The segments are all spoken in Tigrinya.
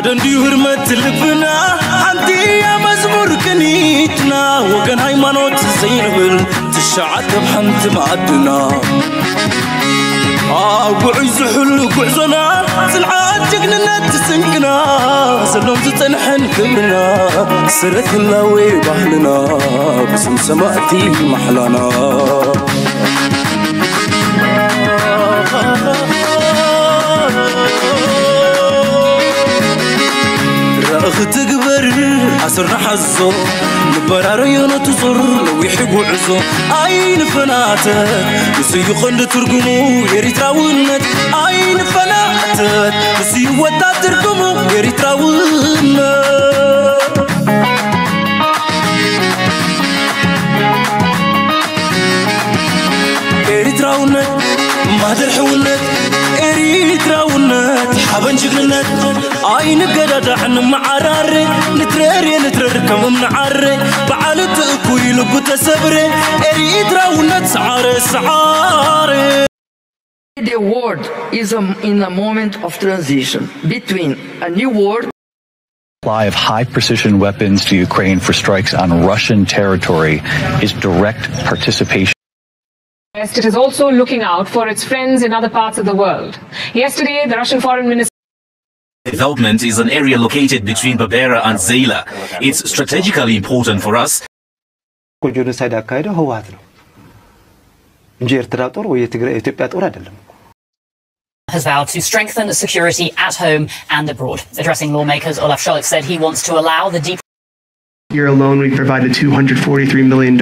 ደንድዩ ህርመት ልብና ሓንቲ እያ መዝሙር ቅኒትና፣ ወገን ሃይማኖት ዘይንብል ትሽዓተ ኣብ ሓንቲ ማዕድና። ኣብ ውዑይ ዝሕሉ ጉዕዞና ጽንዓት ጅግንነት ስንቅና፣ ዘሎን ዝጸንሐን ክብርና፣ ሰረት ህላዌ ባህልና ብስም ሰማእቲ ማሕላና። ራእኺ ትግበር ኣስርና ሓዞ፣ ንበራረዮ ነቲ ዞር ነዊሕ ጉዕዞ። ኣይንፈናተት፣ ንሱ እዩ ቀንዲ ትርጉሙ ኤሪትራውነት። ኣይንፈናተት፣ ንሱ እዩ ወጣት ትርጉሙ ኤሪትራውነት። ኤሪትራውነት ማህደር ሕውነት፣ ኤሪትራውነት ሓበን ጅግንነት። ኣይንገዳዳዕ ንመዓራረ፣ ንትረር ንትረር ከም እምኒ ዓረ፣ በዓል እቲ እኩይ ልቡ ተሰብረ። ኤሪትራውነት ሰዓረ ሰዓረ። The world is um, in a moment of transition between a new world Supply of high precision weapons to Ukraine for strikes on Russian territory is direct participation. West, it is also looking out for its friends in other parts of the world. Yesterday, the Russian foreign minister Development is an area located between Berbera and Zeila. It's strategically important for us. ጀኖሳይድ ያካሄደው ህወሓት ነው እንጂ ኤርትራ ጦር ወይ የኢትዮጵያ ጦር አይደለም። Has vowed to strengthen security at home and abroad. Addressing lawmakers, Olaf Scholz said he wants to allow the deep Year alone, we provided $243 million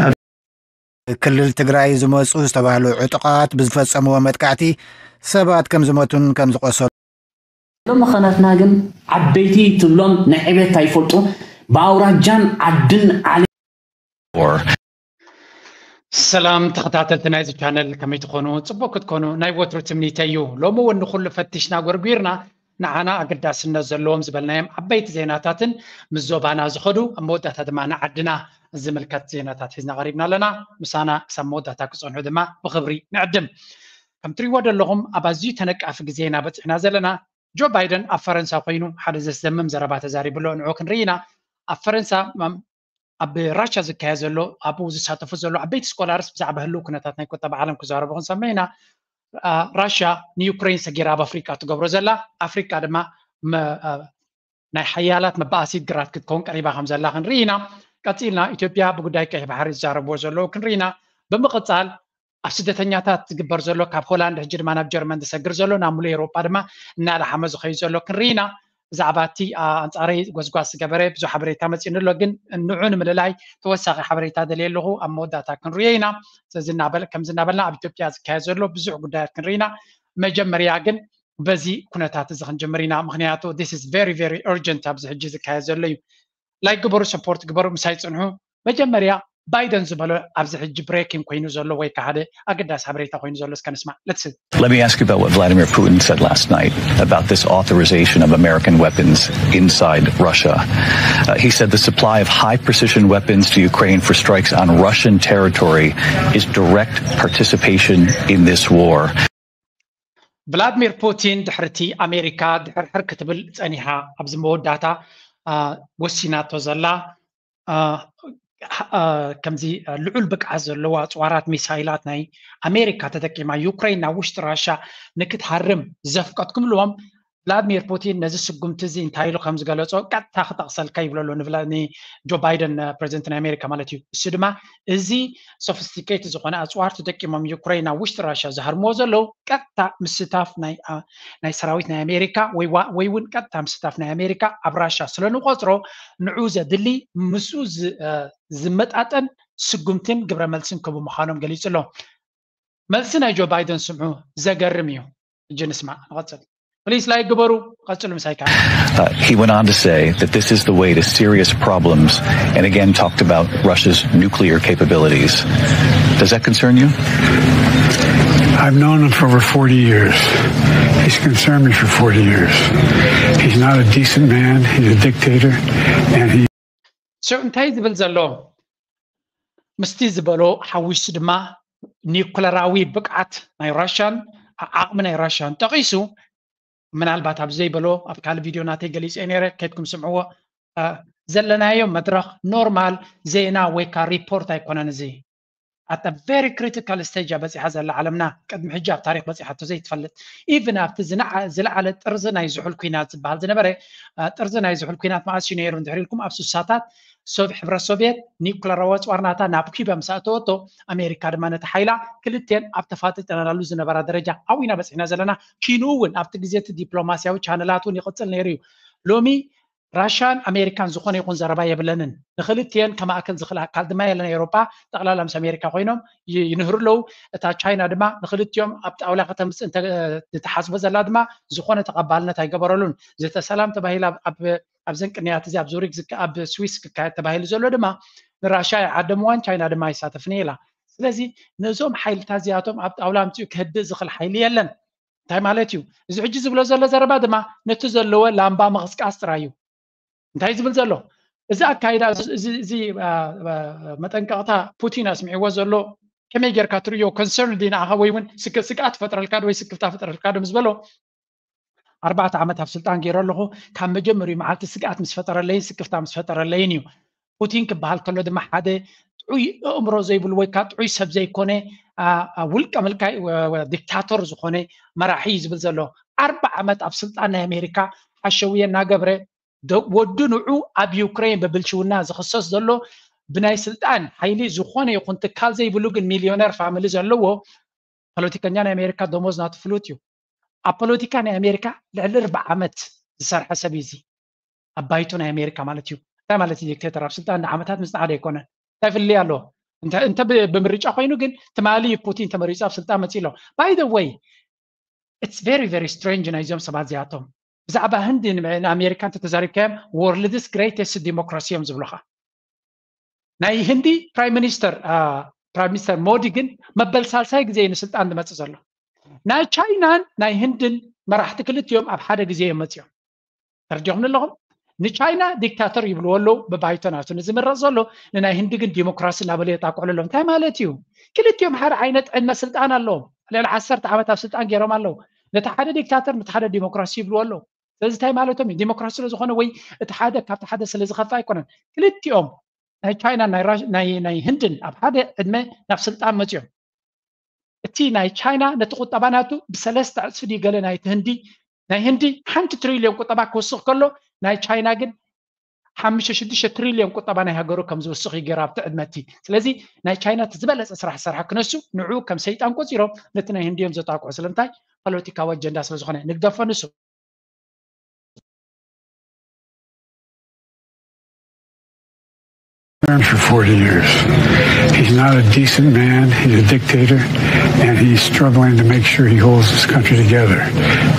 of ክልል ትግራይ ዝመፁ ዝተባህሉ ዕጡቓት ብዝፈፀምዎ መጥቃዕቲ ሰባት ከም ዝሞቱን ከም ዝቆሰሉ ሎም ኸነትና ግን ዓበይቲ ትብሎም ናይ ዕቤት ኣይፈልጡ ብኣውራጃን ዓድን ዓለ ሰላም ተኸታተልቲ ናይዚ ቻነል ከመይ ትኾኑ? ፅቡቅ ክትኮኑ ናይ ወትሩ ትምኒተይ እዩ። ሎሚ እውን ንኩሉ ፈቲሽና ጎርጒርና ንዓና ኣገዳስነት ዘለዎም ዝበልናዮም ዓበይቲ ዜናታትን ምስ ዞባና ዝኸዱ ኣብ መወዳእታ ድማ ንዓድና ዝምልከት ዜናታት ሒዝና ቀሪብና ኣለና። ምሳና ክሳብ መወዳእታ ክፀንሑ ድማ ብኽብሪ ንዕድም። ከም ትሪእዎ ዘለኹም ኣብ ኣዝዩ ተነቃፊ ግዜ ኢና በፂሕና ዘለና። ጆ ባይደን ኣብ ፈረንሳ ኮይኑ ሓደ ዘስደምም ዘረባ ተዛሪቡ ኣሎ። ንዑ ክንርኢ ኢና። ኣብ ፈረንሳ ኣብ ራሻ ዝካየድ ዘሎ ኣብኡ ዝሳተፉ ዘሎ ዓበይቲ ስኮላርስ ብዛዕባ ህልው ኩነታት ናይ ቁጠባ ዓለም ክዛረቡ ክንሰምዕ ኢና። ራሻ ንዩክሬን ሰጊራ ኣብ ኣፍሪቃ ትገብሮ ዘላ ኣፍሪቃ ድማ ናይ ሓያላት መባኣሲት ግራት ክትከውን ቀሪባ ከም ዘላ ክንርኢ ኢና። ቀፂልና ኢትዮጵያ ብጉዳይ ቀይሕ ባሕሪ ዝዛረብዎ ዘለዉ ክንርኢ ኢና። ብምቕፃል ኣብ ስደተኛታት ዝግበር ዘሎ ካብ ሆላንድ ሕጂ ድማ ናብ ጀርመን ዝሰግር ዘሎ ናብ ሙሉእ ኤውሮጳ ድማ እናላሓመ ዝኸይድ ዘሎ ክንርኢ ኢና። ብዛዕባ እቲ ኣንፃረይ ጎስጓስ ዝገበረ ብዙሕ ሓበሬታ መፂኡኒ ኣሎ፣ ግን ንዑ ንምልላይ ተወሳኺ ሓበሬታ ደልየ ኣለኹ። ኣብ መወዳእታ ክንሪኦ ኢና። ስለዚ ከም ዝናበልና ኣብ ኢትዮጵያ ዝካየድ ዘሎ ብዙሕ ጉዳያት ክንርኢ ኢና። መጀመርያ ግን በዚ ኩነታት እዚ ክንጅምር ኢና፣ ምክንያቱ this is very very urgent ኣብዚ ሕጂ ዝካየድ ዘሎ እዩ። ላይክ ግበሩ፣ ሰፖርት ግበሩ፣ ምሳይ ፅንሑ። መጀመርያ ባይደን ዝበሎ ኣብዚ ሕጂ ብሬኪንግ ኮይኑ ዘሎ ወይ ከዓ ሓደ ኣገዳሲ ሓበሬታ ኮይኑ ዘሎ እስከ ንስማዕ። Let's see. Let me ask you about what Vladimir Putin said last night about this authorization of American weapons inside Russia. Uh, he said the supply of high precision weapons to Ukraine for strikes on Russian territory is direct participation in this war. ቭላድሚር ፑቲን ድሕርቲ ኣሜሪካ ድሕርሕር ክትብል ጸኒሓ ኣብዚ መወዳእታ ወሲናቶ ዘላ ከምዚ ልዑል ብቅዓት ዘለዎ ኣፅዋራት ሚሳይላት ናይ ኣሜሪካ ተጠቂማ ዩክሬን ናብ ውሽጢ ራሻ ንክትሃርም ዘፍቀድኩምልዎም ቭላድሚር ፑቲን ነዚ ስጉምቲ እዚ እንታይ ኢሉ ከም ዝገለጾ ቀጥታ ክጠቕሰልካ ይብለሎ ንጆ ባይደን ፕሬዚደንት ናይ ኣሜሪካ ማለት እዩ። እሱ ድማ እዚ ሶፊስቲኬት ዝኾነ ኣፅዋር ተጠቂሞም ዩክሬን ናብ ውሽጢ ራሻ ዝሃርምዎ ዘለዉ ቀጥታ ምስታፍ ናይ ሰራዊት ናይ ኣሜሪካ ወይ እውን ቀጥታ ምስታፍ ናይ ኣሜሪካ ኣብ ራሻ ስለንቆፅሮ ንዑ ዘድሊ ምስኡ ዝመጣጠን ስጉምትን ግብረ መልስን ክህቡ ምዃኖም ገሊፁ ኣሎ። መልሲ ናይ ጆ ባይደን ስምዑ፣ ዘገርም እዩ። እጂ ንስማዕ ንቐፅል። ፕሊስ ላይክ ግበሩ፣ ቀፅሉ ምሳይ ከዓ። Uh, he went on to say that this is the way to serious problems and again talked about Russia's nuclear capabilities. Does that concern you? I've known him for over forty years. He's concerned me for forty years. He's not a decent man. He's a dictator. And he So እንታይ ዝብል ዘሎ ምስቲ ዝበሎ ሓዊሱ ድማ ኒኩለራዊ ብቅዓት ናይ ራሽያን ዓቕሚ ናይ ራሽያን ጠቒሱ ምናልባት ኣብ ዘይበሎ ኣብ ካልእ ቪድዮ ናተይ ገሊጸ ነይረ፣ ከድኩም ስምዕዎ። ዘለናዮ መድረኽ ኖርማል ዜና ወይ ከዓ ሪፖርት ኣይኮነን። እዚ ኣተ ቨሪ ክሪቲካል ስቴጅ በፂሓ ዘላ ዓለምና። ቅድሚ ሕጂ ኣብ ታሪክ በፂሓቶ ዘይትፈልጥ፣ ኢቭን ኣብቲ ዝለዓለ ጥርዚ ናይ ዝሑል ኩናት ዝበሃል ዝነበረ፣ ጥርዚ ናይ ዝሑል ኩናት መዓስ እዩ ነይሩ እንድሕር ኢልኩም፣ ኣብ ስሳታት ሶቭ ሕብረት ሶቭየት ኒኩለራዊ ኣፅዋር ናታ ናብ ኩባ ምስ ኣእተወቶ፣ ኣሜሪካ ድማ ነቲ ሓይላ ክልቴን ኣብ ተፋጢጠናሉ ዝነበራ ደረጃ ኣብና በፂሕና ዘለና። ኪንኡ እውን ኣብቲ ግዜ እቲ ዲፕሎማስያዊ ቻነላት እውን ይቕፅል ነይሩ እዩ። ሎሚ ራሽያን ኣሜሪካን ዝኾነ ይኹን ዘረባ የብለንን። ንክልቲኤን ከማእክል ዝኽእል ኣካል ድማ የለን። ኤውሮጳ ጠቕላላ ምስ ኣሜሪካ ኮይኖም ይንህሩ ኣለዉ። እታ ቻይና ድማ ንክልቲኦም ኣብ ጣውላ ከተምፅእ ዝተሓስቦ ዘላ ድማ ዝኾነ ተቐባልነት ኣይገበረሉን። ዘተ ሰላም ተባሂላ ኣብዘን ቅንያት እዚ ኣብ ዙሪክ ኣብ ስዊስ ክካየድ ተባሂሉ ዘሎ ድማ ንራሽያ ይዓደምዋን ቻይና ድማ ይሳተፍን ኢላ። ስለዚ ነዞም ሓይልታት እዚኣቶም ኣብ ጣውላ ኣምፅኡ ክህድእ ዝኽእል ሓይሊ የለን። እንታይ ማለት እዩ? እዚ ሕጂ ዝብሎ ዘሎ ዘረባ ድማ ነቲ ዘለዎ ላምባ ምቕስቃስ ጥራይ እዩ። እንታይ ዝብል ዘሎ? እዚ ኣካይዳ፣ እዚ መጠንቀቕታ ፑቲን ኣስሚዕዎ ዘሎ ከመይ ጌርካ ትርእዮ? ኮንሰርን ዲ ንኣኻ ወይ እውን ስግኣት ፈጥረልካ ወይ ስክፍታ ፈጥረልካ ዶ ምስ በሎ፣ ኣርባዕተ ዓመት ኣብ ስልጣን ገይረ ኣለኹ፣ ካብ መጀመሪኡ መዓልቲ ስግኣት ምስ ፈጠረለይን ስክፍታ ምስ ፈጠረለይን እዩ። ፑቲን ክበሃል ከሎ ድማ ሓደ ጥዑይ ኣእምሮ ዘይብሉ ወይ ከዓ ጥዑይ ሰብ ዘይኮነ፣ ውልቀ ምልካይ ዲክታቶር ዝኾነ መራሒ እዩ ዝብል ዘሎ። ኣርባ ዓመት ኣብ ስልጣን ናይ ኣሜሪካ ሓሸውየ እናገብረ፣ ወዱ ንዑ ኣብ ዩክሬን ብብልሽውና ዝኽሰስ ዘሎ፣ ብናይ ስልጣን ሓይሊ ዝኾነ ይኹን ትካል ዘይብሉ ግን ሚልዮነር ፋሚሊ ዘለዎ ፖለቲከኛ ናይ ኣሜሪካ ደሞዝ ናቱ ፍሉጥ እዩ። ኣብ ፖለቲካ ናይ ኣሜሪካ ልዕሊ ኣርባ ዓመት ዝሰርሐ ሰብ እዩ እዚ። ኣብ ባይቶ ናይ ኣሜሪካ ማለት እዩ። እንታይ ማለት እዩ? ዲክቴተር ኣብ ስልጣን ንዓመታት ምስ ጸዓደ ኣይኮነን። እንታይ ፍልልይ ኣለዎ? እንተ ብምርጫ ኮይኑ ግን ትማሊ ፑቲን ተመሪጹ ኣብ ስልጣን መጺእ ኣሎ። By the way, it's very very strange ናይዞም ሰባት እዚኣቶም። ብዛዕባ ህንዲ ንኣሜሪካ እንተተዛሪብካዮም world's greatest democracy እዮም ዝብሉኻ። ናይ ህንዲ ፕራይም ሚኒስተር ፕራይም ሚኒስተር ሞዲ ግን መበል ሳልሳይ ግዜ እዩ ንስልጣን ዝመፅእ ዘሎ። ናይ ቻይናን ናይ ህንድን መራሕቲ ክልቲኦም ኣብ ሓደ ግዜ እዮም መፂኦም። ተረዲኹም ኣለኹም? ንቻይና ዲክታተር ይብልዎ ኣለዉ፣ ብባይቶ ናቱ ንዝምረፅ ዘሎ። ንናይ ህንዲ ግን ዲሞክራሲ እናበለ የጣቅዕሉ ኣለዉ። እንታይ ማለት እዩ? ክልቲኦም ሓደ ዓይነት ዕድመ ስልጣን ኣለዎም። ልዕሊ ዓሰርተ ዓመት ኣብ ስልጣን ገይሮም ኣለዉ። ነቲ ሓደ ዲክታተር ነቲ ሓደ ዲሞክራሲ ይብልዎ ኣለዉ። ስለዚ እንታይ ማለቶም እዩ? ዲሞክራሲ ስለዝኾነ ወይ እቲ ሓደ ካብቲ ሓደ ስለዝኸፍእ ኣይኮነን። ክልቲኦም ናይ ቻይና ናይ ህንድን ኣብ ሓደ ዕድመ ናብ ስልጣን መፅኦም። እቲ ናይ ቻይና ነቲ ቁጠባ ናቱ ብሰለስተ ዕፅፊ ድዩ ገለ ናይቲ ህንዲ? ናይ ህንዲ ሓንቲ ትሪልዮን ቁጠባ ክወስኽ ከሎ ናይ ቻይና ግን ሓሙሽተ ሽዱሽተ ትሪልዮን ቁጠባ ናይ ሃገሩ ከም ዝውስኽ እዩ ገይሩ ኣብቲ ዕድመ እቲ። ስለዚ ናይ ቻይና እቲ ዝበለፀ ስራሕ ዝሰርሐ ክነሱ ንዑ ከም ሰይጣን ቆፂሮም ነቲ ናይ ህንዲ እዮም ዘጣቅዑ። ስለምንታይ? ፖለቲካዊ ኣጀንዳ ስለዝኾነ ንግደፎ ንሱ። For forty years. He's not a decent man. He's a dictator, and he's struggling to make sure he holds this country together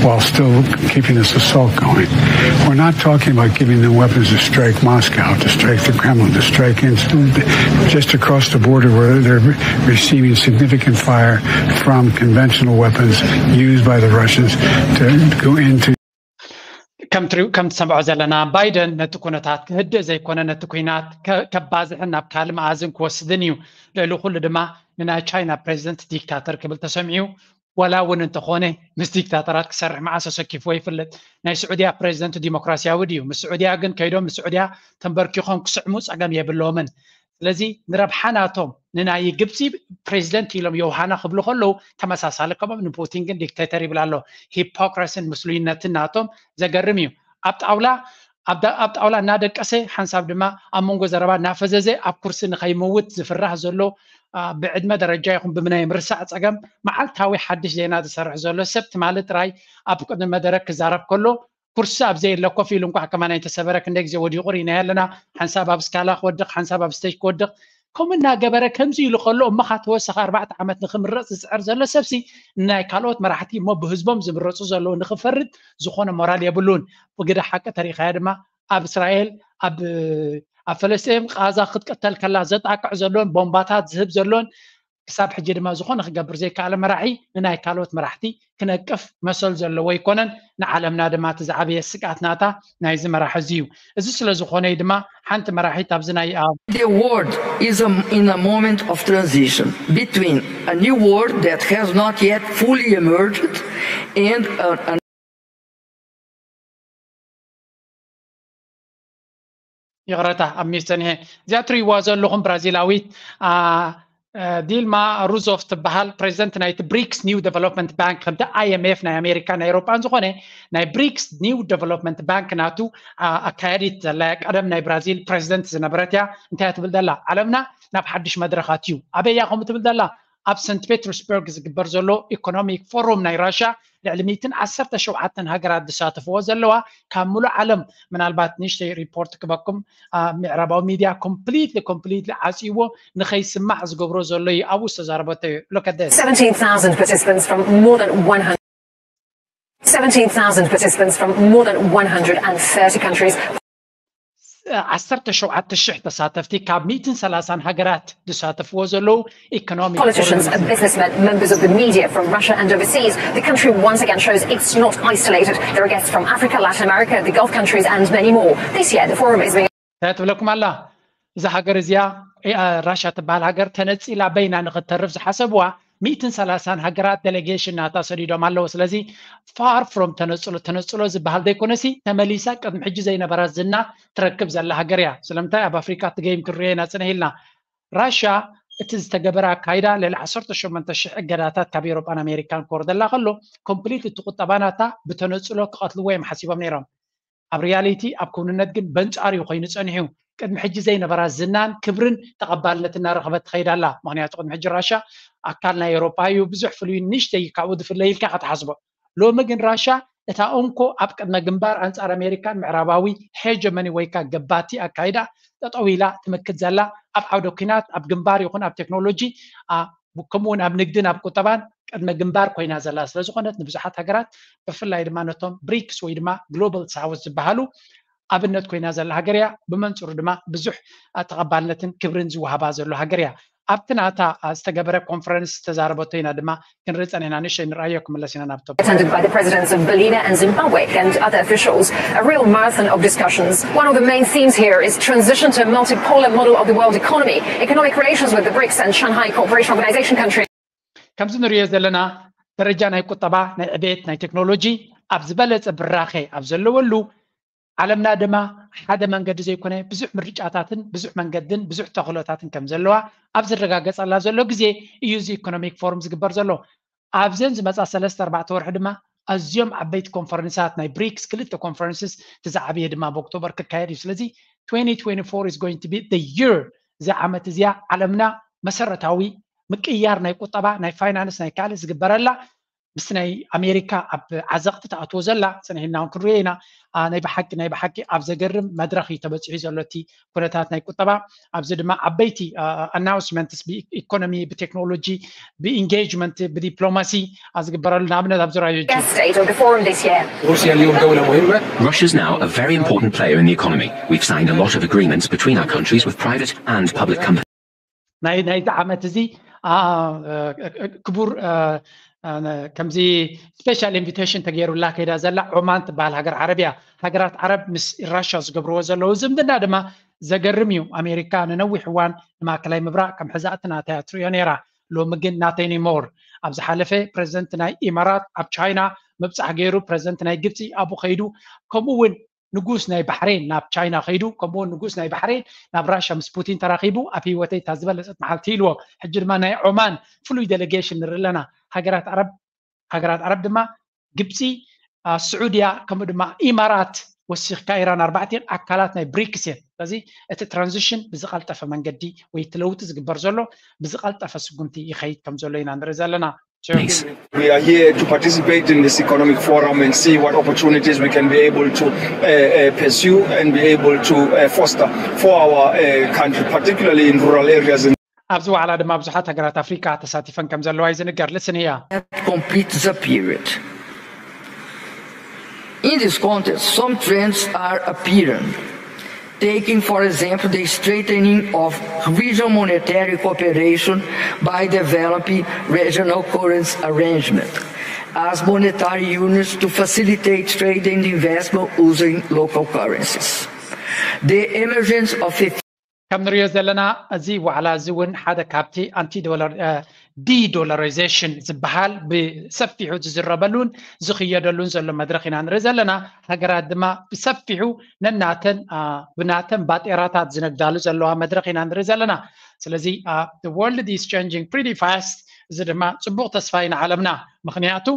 while still keeping this assault going. We're not talking about giving them weapons to strike Moscow, to strike the Kremlin, to strike in, just across the border where they're receiving significant fire from conventional weapons used by the Russians to go into ከም ትሰምዖ ዘለና ባይደን ነቲ ኩነታት ክህድእ ዘይኮነ ነቲ ኩናት ከባዝሕን ናብ ካልእ መኣዝን ክወስድን እዩ። ልዕሊ ኩሉ ድማ ንናይ ቻይና ፕሬዚደንት ዲክታተር ክብል ተሰሚዑ። ወላ እውን እንተኾነ ምስ ዲክታተራት ክሰርሕ መዓስ ኣሰኪፍዎ ይፍለጥ። ናይ ስዑድያ ፕሬዚደንት ዲሞክራሲያዊ ድዩ? ምስ ስዑድያ ግን ከይዶም ምስ ስዑድያ ተንበርኪኾም ክስዕሙ ፀገም የብሎምን። ስለዚ ንረብሓ ናቶም ንናይ ግብፂ ፕሬዚደንት ኢሎም ዮውሃና ክብሉ ከለዉ ተመሳሳሊ ከምኦም ንፑቲን ግን ዲክቴተር ይብል ኣሎ። ሂፖክራሲን ምስሉይነትን ናቶም ዘገርም እዩ። ኣብ ጣውላ ኣብ ጣውላ እናደቀሰ ሓንሳብ ድማ ኣብ መንጎ ዘረባ እናፈዘዘ ኣብ ኩርሲ ንኸይምውት ዝፍራሕ ዘሎ ብዕድመ ደረጃ ይኹን ብምናይ ምርሳዕ ፀገም መዓልታዊ ሓድሽ ዜና ዝሰርሕ ዘሎ ሰብ ትማሊ ጥራይ ኣብ ቅድሚ መደረ ክዛረብ ከሎ ኩርሲ ኣብ ዘየለ ኮፍ ኢሉ እንኳዕ ከማን ኣይተሰበረ ክንደይ ግዜ ወዲቑ ርኢናዮ ኣለና። ሓንሳብ ኣብ ስካላ ክወድቕ ሓንሳብ ኣብ ስቴጅ ክወድቕ ከምኡ እናገበረ ከምዚ ኢሉ ከሎ እሞ ካ ተወሳኺ ኣርባዕተ ዓመት ንክምረፅ ዝፅዕር ዘሎ ሰብሲ ናይ ካልኦት መራሕቲ እሞ ብህዝቦም ዝምረፁ ዘለዉ ንክፈርድ ዝኾነ ሞራል የብሉን። ብግደ ሓቂ ተሪኢኻዮ ድማ ኣብ እስራኤል ኣብ ኣብ ፈለስጢን ቃዛ ክትቅተል ከላ ዘጣቅዕ ዘሎን ቦምባታት ዝህብ ዘሎን ክሳብ ሕጂ ድማ ዝኾነ ክገብር ዘይከኣለ መራሒ ንናይ ካልኦት መራሕቲ ክነቅፍ መሰል ዘለዎ ኣይኮነን። ንዓለምና ድማ እቲ ዝዓበየ ስግኣት ናታ ናይዚ መራሒ እዚ እዩ። እዚ ስለ ዝኾነ እዩ ድማ ሓንቲ መራሒት ኣብዚ ናይ The world is a, in a moment of transition between a new world that has not yet fully emerged and a, a ይቕረታ ኣብ ሚስ ጸኒሐ። እዚኣ ትርእይዋ ዘለኹም ብራዚላዊት ዲልማ ሩዞፍ ትበሃል፣ ፕሬዚደንት ናይቲ ብሪክስ ኒው ዴቨሎፕመንት ባንክ፣ ከምቲ ኣይኤምኤፍ ናይ ኣሜሪካ ናይ ኤሮጳን ዝኾነ ናይ ብሪክስ ኒው ዴቨሎፕመንት ባንክ ናቱ ኣካያዲት ዘላ፣ ቀደም ናይ ብራዚል ፕሬዚደንት ዝነበረት እያ። እንታይ ትብል ዘላ? ዓለምና ናብ ሓድሽ መድረኻት እዩ። ኣበይ እያ ከምኡ ትብል ዘላ? ኣብ ሰንት ፔተርስበርግ ዝግበር ዘሎ ኢኮኖሚክ ፎሩም ናይ ራሽያ ልዕሊ ሚእትን ዓሰርተ ሸውዓተን ሃገራት ዝሳተፍዎ ዘለዋ፣ ካብ ሙሉእ ዓለም ምናልባት ንእሽተይ ሪፖርት ክበኩም፣ ምዕራባዊ ሚድያ ኮምፕሊትሊ ኮምፕሊትሊ ዓፅይዎ ንኸይስማዕ ዝገብሮ ዘሎ እዩ። ኣብኡ ዝተዛረበቶ እዩ። Look at this. Seventeen thousand participants from more than one hundred seventeen thousand participants from more than one hundred and thirty countries. ዓሰርተ ሸውዓተ ሽሕ ተሳተፍቲ ካብ ሚእትን ሰላሳን ሃገራት ዝሳተፍዎ ዘለዉ ኢኮኖሚክ Politicians, businessmen, members of the media from Russia and overseas. The country once again shows it's not isolated. There are guests from Africa, Latin America, the Gulf countries, and many more. This year, the forum is being እንታይ ትብለኩም ኣላ? እዛ ሃገር እዚኣ ራሻ ትበሃል ሃገር ተነፂላ በይና ንክተርፍ ዝሓሰብዋ ሚእትን ሰላሳን ሃገራት ዴሌጌሽን ናታ ሰዲዶም ኣለዉ። ስለዚ ፋር ፍሮም ተነፅሎ ተነፅሎ ዝበሃል ዘይኮነሲ፣ ተመሊሳ ቅድሚ ሕጂ ዘይነበራ ዝና ትረክብ ዘላ ሃገር እያ። ስለምንታይ ኣብ ኣፍሪካ እቲ ገይም ክንሪኦ ኢና ፅንሕ ኢልና። ራሻ እቲ ዝተገበረ ኣካይዳ ልዕሊ ዓሰርተ ሸሞንተ ሽሕ እገዳታት ካብ ኤሮጳን ኣሜሪካን ክወርደላ ከሎ፣ ኮምፕሊት እቲ ቁጠባ ናታ ብተነፅሎ ክቐትልዎ እዮም ሓሲቦም ነይሮም። ኣብ ሪያሊቲ ኣብ ክውንነት ግን በንጻር እዩ ኮይኑ ጸኒሑ። ቅድሚ ሕጂ ዘይነበራ ዝናን ክብርን ተቐባልነት እናረኸበት ትኸይድ ኣላ። ምኽንያቱ ቅድሚ ሕጂ ራሻ ኣካል ናይ ኤውሮጳ እዩ፣ ብዙሕ ፍሉይ ንእሽተይ ካብኡ ዝፍለይ ኢልካ ኢኻ ትሓስቦ። ሎሚ ግን ራሻ እታ እንኮ ኣብ ቅድመ ግንባር ኣንጻር ኣሜሪካን ምዕራባዊ ሄጀመኒ ወይ ከኣ ገባቲ ኣካይዳ ጠጠው ኢላ ትምክት ዘላ፣ ኣብ ዓውደ ኲናት ኣብ ግንባር ይኹን ኣብ ቴክኖሎጂ ከምኡውን ኣብ ንግድን ኣብ ቁጠባን ቅድመ ግንባር ኮይና ዘላ ስለዝኾነት ንብዙሓት ሃገራት ብፍላይ ድማ ነቶም ብሪክስ ወይ ድማ ግሎባል ሳውዝ ዝበሃሉ ኣብነት ኮይና ዘላ ሃገር እያ። ብመንፅሩ ድማ ብዙሕ ተቐባልነትን ክብርን ዝወሃባ ዘሎ ሃገር እያ። ኣብቲ ናታ ዝተገበረ ኮንፈረንስ ዝተዛረበቶ ኢና ድማ ክንርኢ ፀኒሕና። ንእሽተይ ንርኣዮ ክምለስ ኢና ናብ ቶፒክ። Attended by the presidents of Bolivia and Zimbabwe and other officials. A real marathon of discussions. One of the main themes here is transition to a multipolar model of the world economy, economic relations with the brics and Shanghai Cooperation Organization countries. ከምዚ ንሪኦ ዘለና ደረጃ ናይ ቁጠባ፣ ናይ ዕቤት፣ ናይ ቴክኖሎጂ ኣብ ዝበለፀ ብራኸ ኣብ ዘለወሉ ዓለምና ድማ ሓደ መንገዲ ዘይኮነ ብዙሕ ምርጫታትን ብዙሕ መንገድን ብዙሕ ተኽእሎታትን ከም ዘለዋ ኣብ ዝረጋገፀላ ዘሎ ግዜ እዩ እዚ ኢኮኖሚክ ፎርም ዝግበር ዘሎ። ኣብዘን ዝመፃ ሰለስተ ኣርባዕተ ወርሒ ድማ ኣዝዮም ዓበይቲ ኮንፈረንሳት ናይ ብሪክስ ክልተ ኮንፈረንስስ እቲ ዝዓበየ ድማ ኣብ ኦክቶበር ክካየድ እዩ። ስለዚ twenty twenty-four is going to be the year፣ እዚ ዓመት እዚኣ ዓለምና መሰረታዊ ምቅያር ናይ ቁጠባ ናይ ፋይናንስ ናይ ካልእ ዝግበረላ ምስቲ ናይ ኣሜሪካ ኣብ ዓዘቕቲ ተኣትዎ ዘላ ፅንሒልና እውን ክንሪኦ ኢና። ናይ ብሓቂ ናይ ብሓቂ ኣብ ዘገርም መድረኽ እዩ ተበፂሑ ዘሎ እቲ ኩነታት ናይ ቁጠባ። ኣብዚ ድማ ዓበይቲ ኣናውንስመንትስ ብኢኮኖሚ ብቴክኖሎጂ ብኢንጌጅመንት ብዲፕሎማሲ ዝግበረሉ ንኣብነት ኣብ ዙርያ Guest state of the forum this year. روسيا اليوم دولة مهمة. Russia's now a very important player in the economy. We've signed a lot of agreements between our countries with private and public companies. ናይ ናይዚ ዓመት እዚ ክቡር ከምዚ ስፔሻል ኢንቪቴሽን ተገይሩላ ከይዳ ዘላ ዖማን ትበሃል ሃገር ዓረብ እያ። ሃገራት ዓረብ ምስ ራሻ ዝገብርዎ ዘለዉ ዝምድና ድማ ዘገርም እዩ። ኣሜሪካ ንነዊሕ እዋን ንማእከላይ ምብራቕ ከም ሕዛእቲ ናተይ እያ ትርእዮ ነይራ። ሎሚ ግን ናተይ ኒሞር። ኣብ ዝሓለፈ ፕረዚደንት ናይ ኢማራት ኣብ ቻይና ምብፃሕ ገይሩ፣ ፕረዚደንት ናይ ግብፂ ኣብኡ ከይዱ፣ ከምኡ እውን ንጉስ ናይ ባሕሬን ናብ ቻይና ከይዱ፣ ከምኡውን ንጉስ ናይ ባሕሬን ናብ ራሻ ምስ ፑቲን ተራኺቡ ኣብ ህይወተይ እታ ዝበለፀት መዓልቲ ኢልዎ። ሕጂ ድማ ናይ ዖማን ፍሉይ ዴሌጌሽን ንርኢ ኣለና። ሃገራት ዓረብ ሃገራት ዓረብ ድማ ግብፂ፣ ስዑድያ ከምኡ ድማ ኢማራት ወሲኽካ ኢራን ኣርባዕቲን ኣካላት ናይ ብሪክስ እየን። ስለዚ እቲ ትራንዚሽን ብዝቐልጠፈ መንገዲ ወይ እቲ ለውጢ ዝግበር ዘሎ ብዝቐልጠፈ ስጉምቲ ይኸይድ ከም ዘሎ ኢና ንርኢ ዘለና። We are here to participate in this economic forum and see what opportunities we can be able to uh, uh, pursue and be able to uh, foster for our uh, country, particularly in rural areas. ኣብዚ ዋዕላ ድማ ብዙሓት ሃገራት ኣፍሪካ ተሳቲፈን ከም ዘለዋ እዩ ዝንገር። ልስን እያ። Completes a period. In this context, some trends are appearing. Taking, for example, the strengthening of regional monetary cooperation by developing regional currency arrangement as monetary units to facilitate trade and investment using local currencies. The emergence of a ከም ንሪኦ ዘለና እዚ ዋዕላ እዚ እውን ሓደ ካብቲ ኣንቲ ዶላር ዲዶላራይዜሽን ዝበሃል ብሰፊሑ ዝዝረበሉን ዝኽየደሉን ዘሎ መድረኽ ኢና ንርኢ ዘለና። ሃገራት ድማ ብሰፊሑ ነናተን ብናተን ባጤራታት ዝነግዳሉ ዘለዋ መድረኽ ኢና ንርኢ ዘለና። ስለዚ world is changing pretty fast። እዚ ድማ ፅቡቕ ተስፋ እዩ ንዓለምና። ምክንያቱ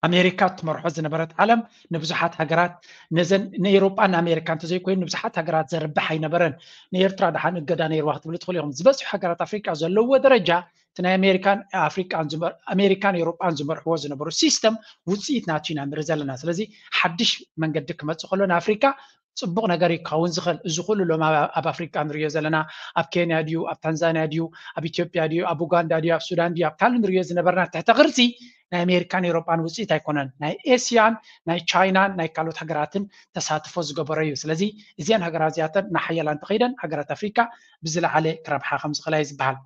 ኣሜሪካ ትመርሖ ዝነበረት ዓለም ንብዙሓት ሃገራት፣ ነዘን ንኤሮጳን ንኣሜሪካ እንተዘይኮይኑ ንብዙሓት ሃገራት ዘርብሕ ኣይነበረን። ንኤርትራ ደሓን እገዳ ነይርዋ ክትብሉ ትኽእሉ ኢኹም። ዝበዝሑ ሃገራት ኣፍሪቃ ዘለዎ ደረጃ እቲ ናይ ኣሜሪካን ኣፍሪቃን ዝመር- ኣሜሪካን ኤሮጳን ዝመርሕዎ ዝነበሩ ሲስተም ውፅኢት ናቱ ኢና ንርኢ ዘለና። ስለዚ ሓድሽ መንገዲ ክመፅእ ከሎ ንኣፍሪካ ፅቡቕ ነገር እዩ ክኸውን ዝኽእል። እዚ ኩሉ ሎም ኣብ ኣፍሪቃ ንሪዮ ዘለና፣ ኣብ ኬንያ ድዩ፣ ኣብ ታንዛንያ ድዩ፣ ኣብ ኢትዮጵያ ድዩ፣ ኣብ ኡጋንዳ ድዩ፣ ኣብ ሱዳን ድዩ፣ ኣብ ካልእ ንሪዮ ዝነበርና ትሕተ ቅርፂ ናይ ኣሜሪካን ኤሮጳን ውፅኢት ኣይኮነን። ናይ ኤስያን ናይ ቻይናን ናይ ካልኦት ሃገራትን ተሳትፎ ዝገበረ እዩ። ስለዚ እዚአን ሃገራት እዚኣተን እናሓየላ እንተኸይደን ሃገራት ኣፍሪካ ብዝለዓለ ክረብሓ ከም ዝኽእላ እዩ ዝበሃል።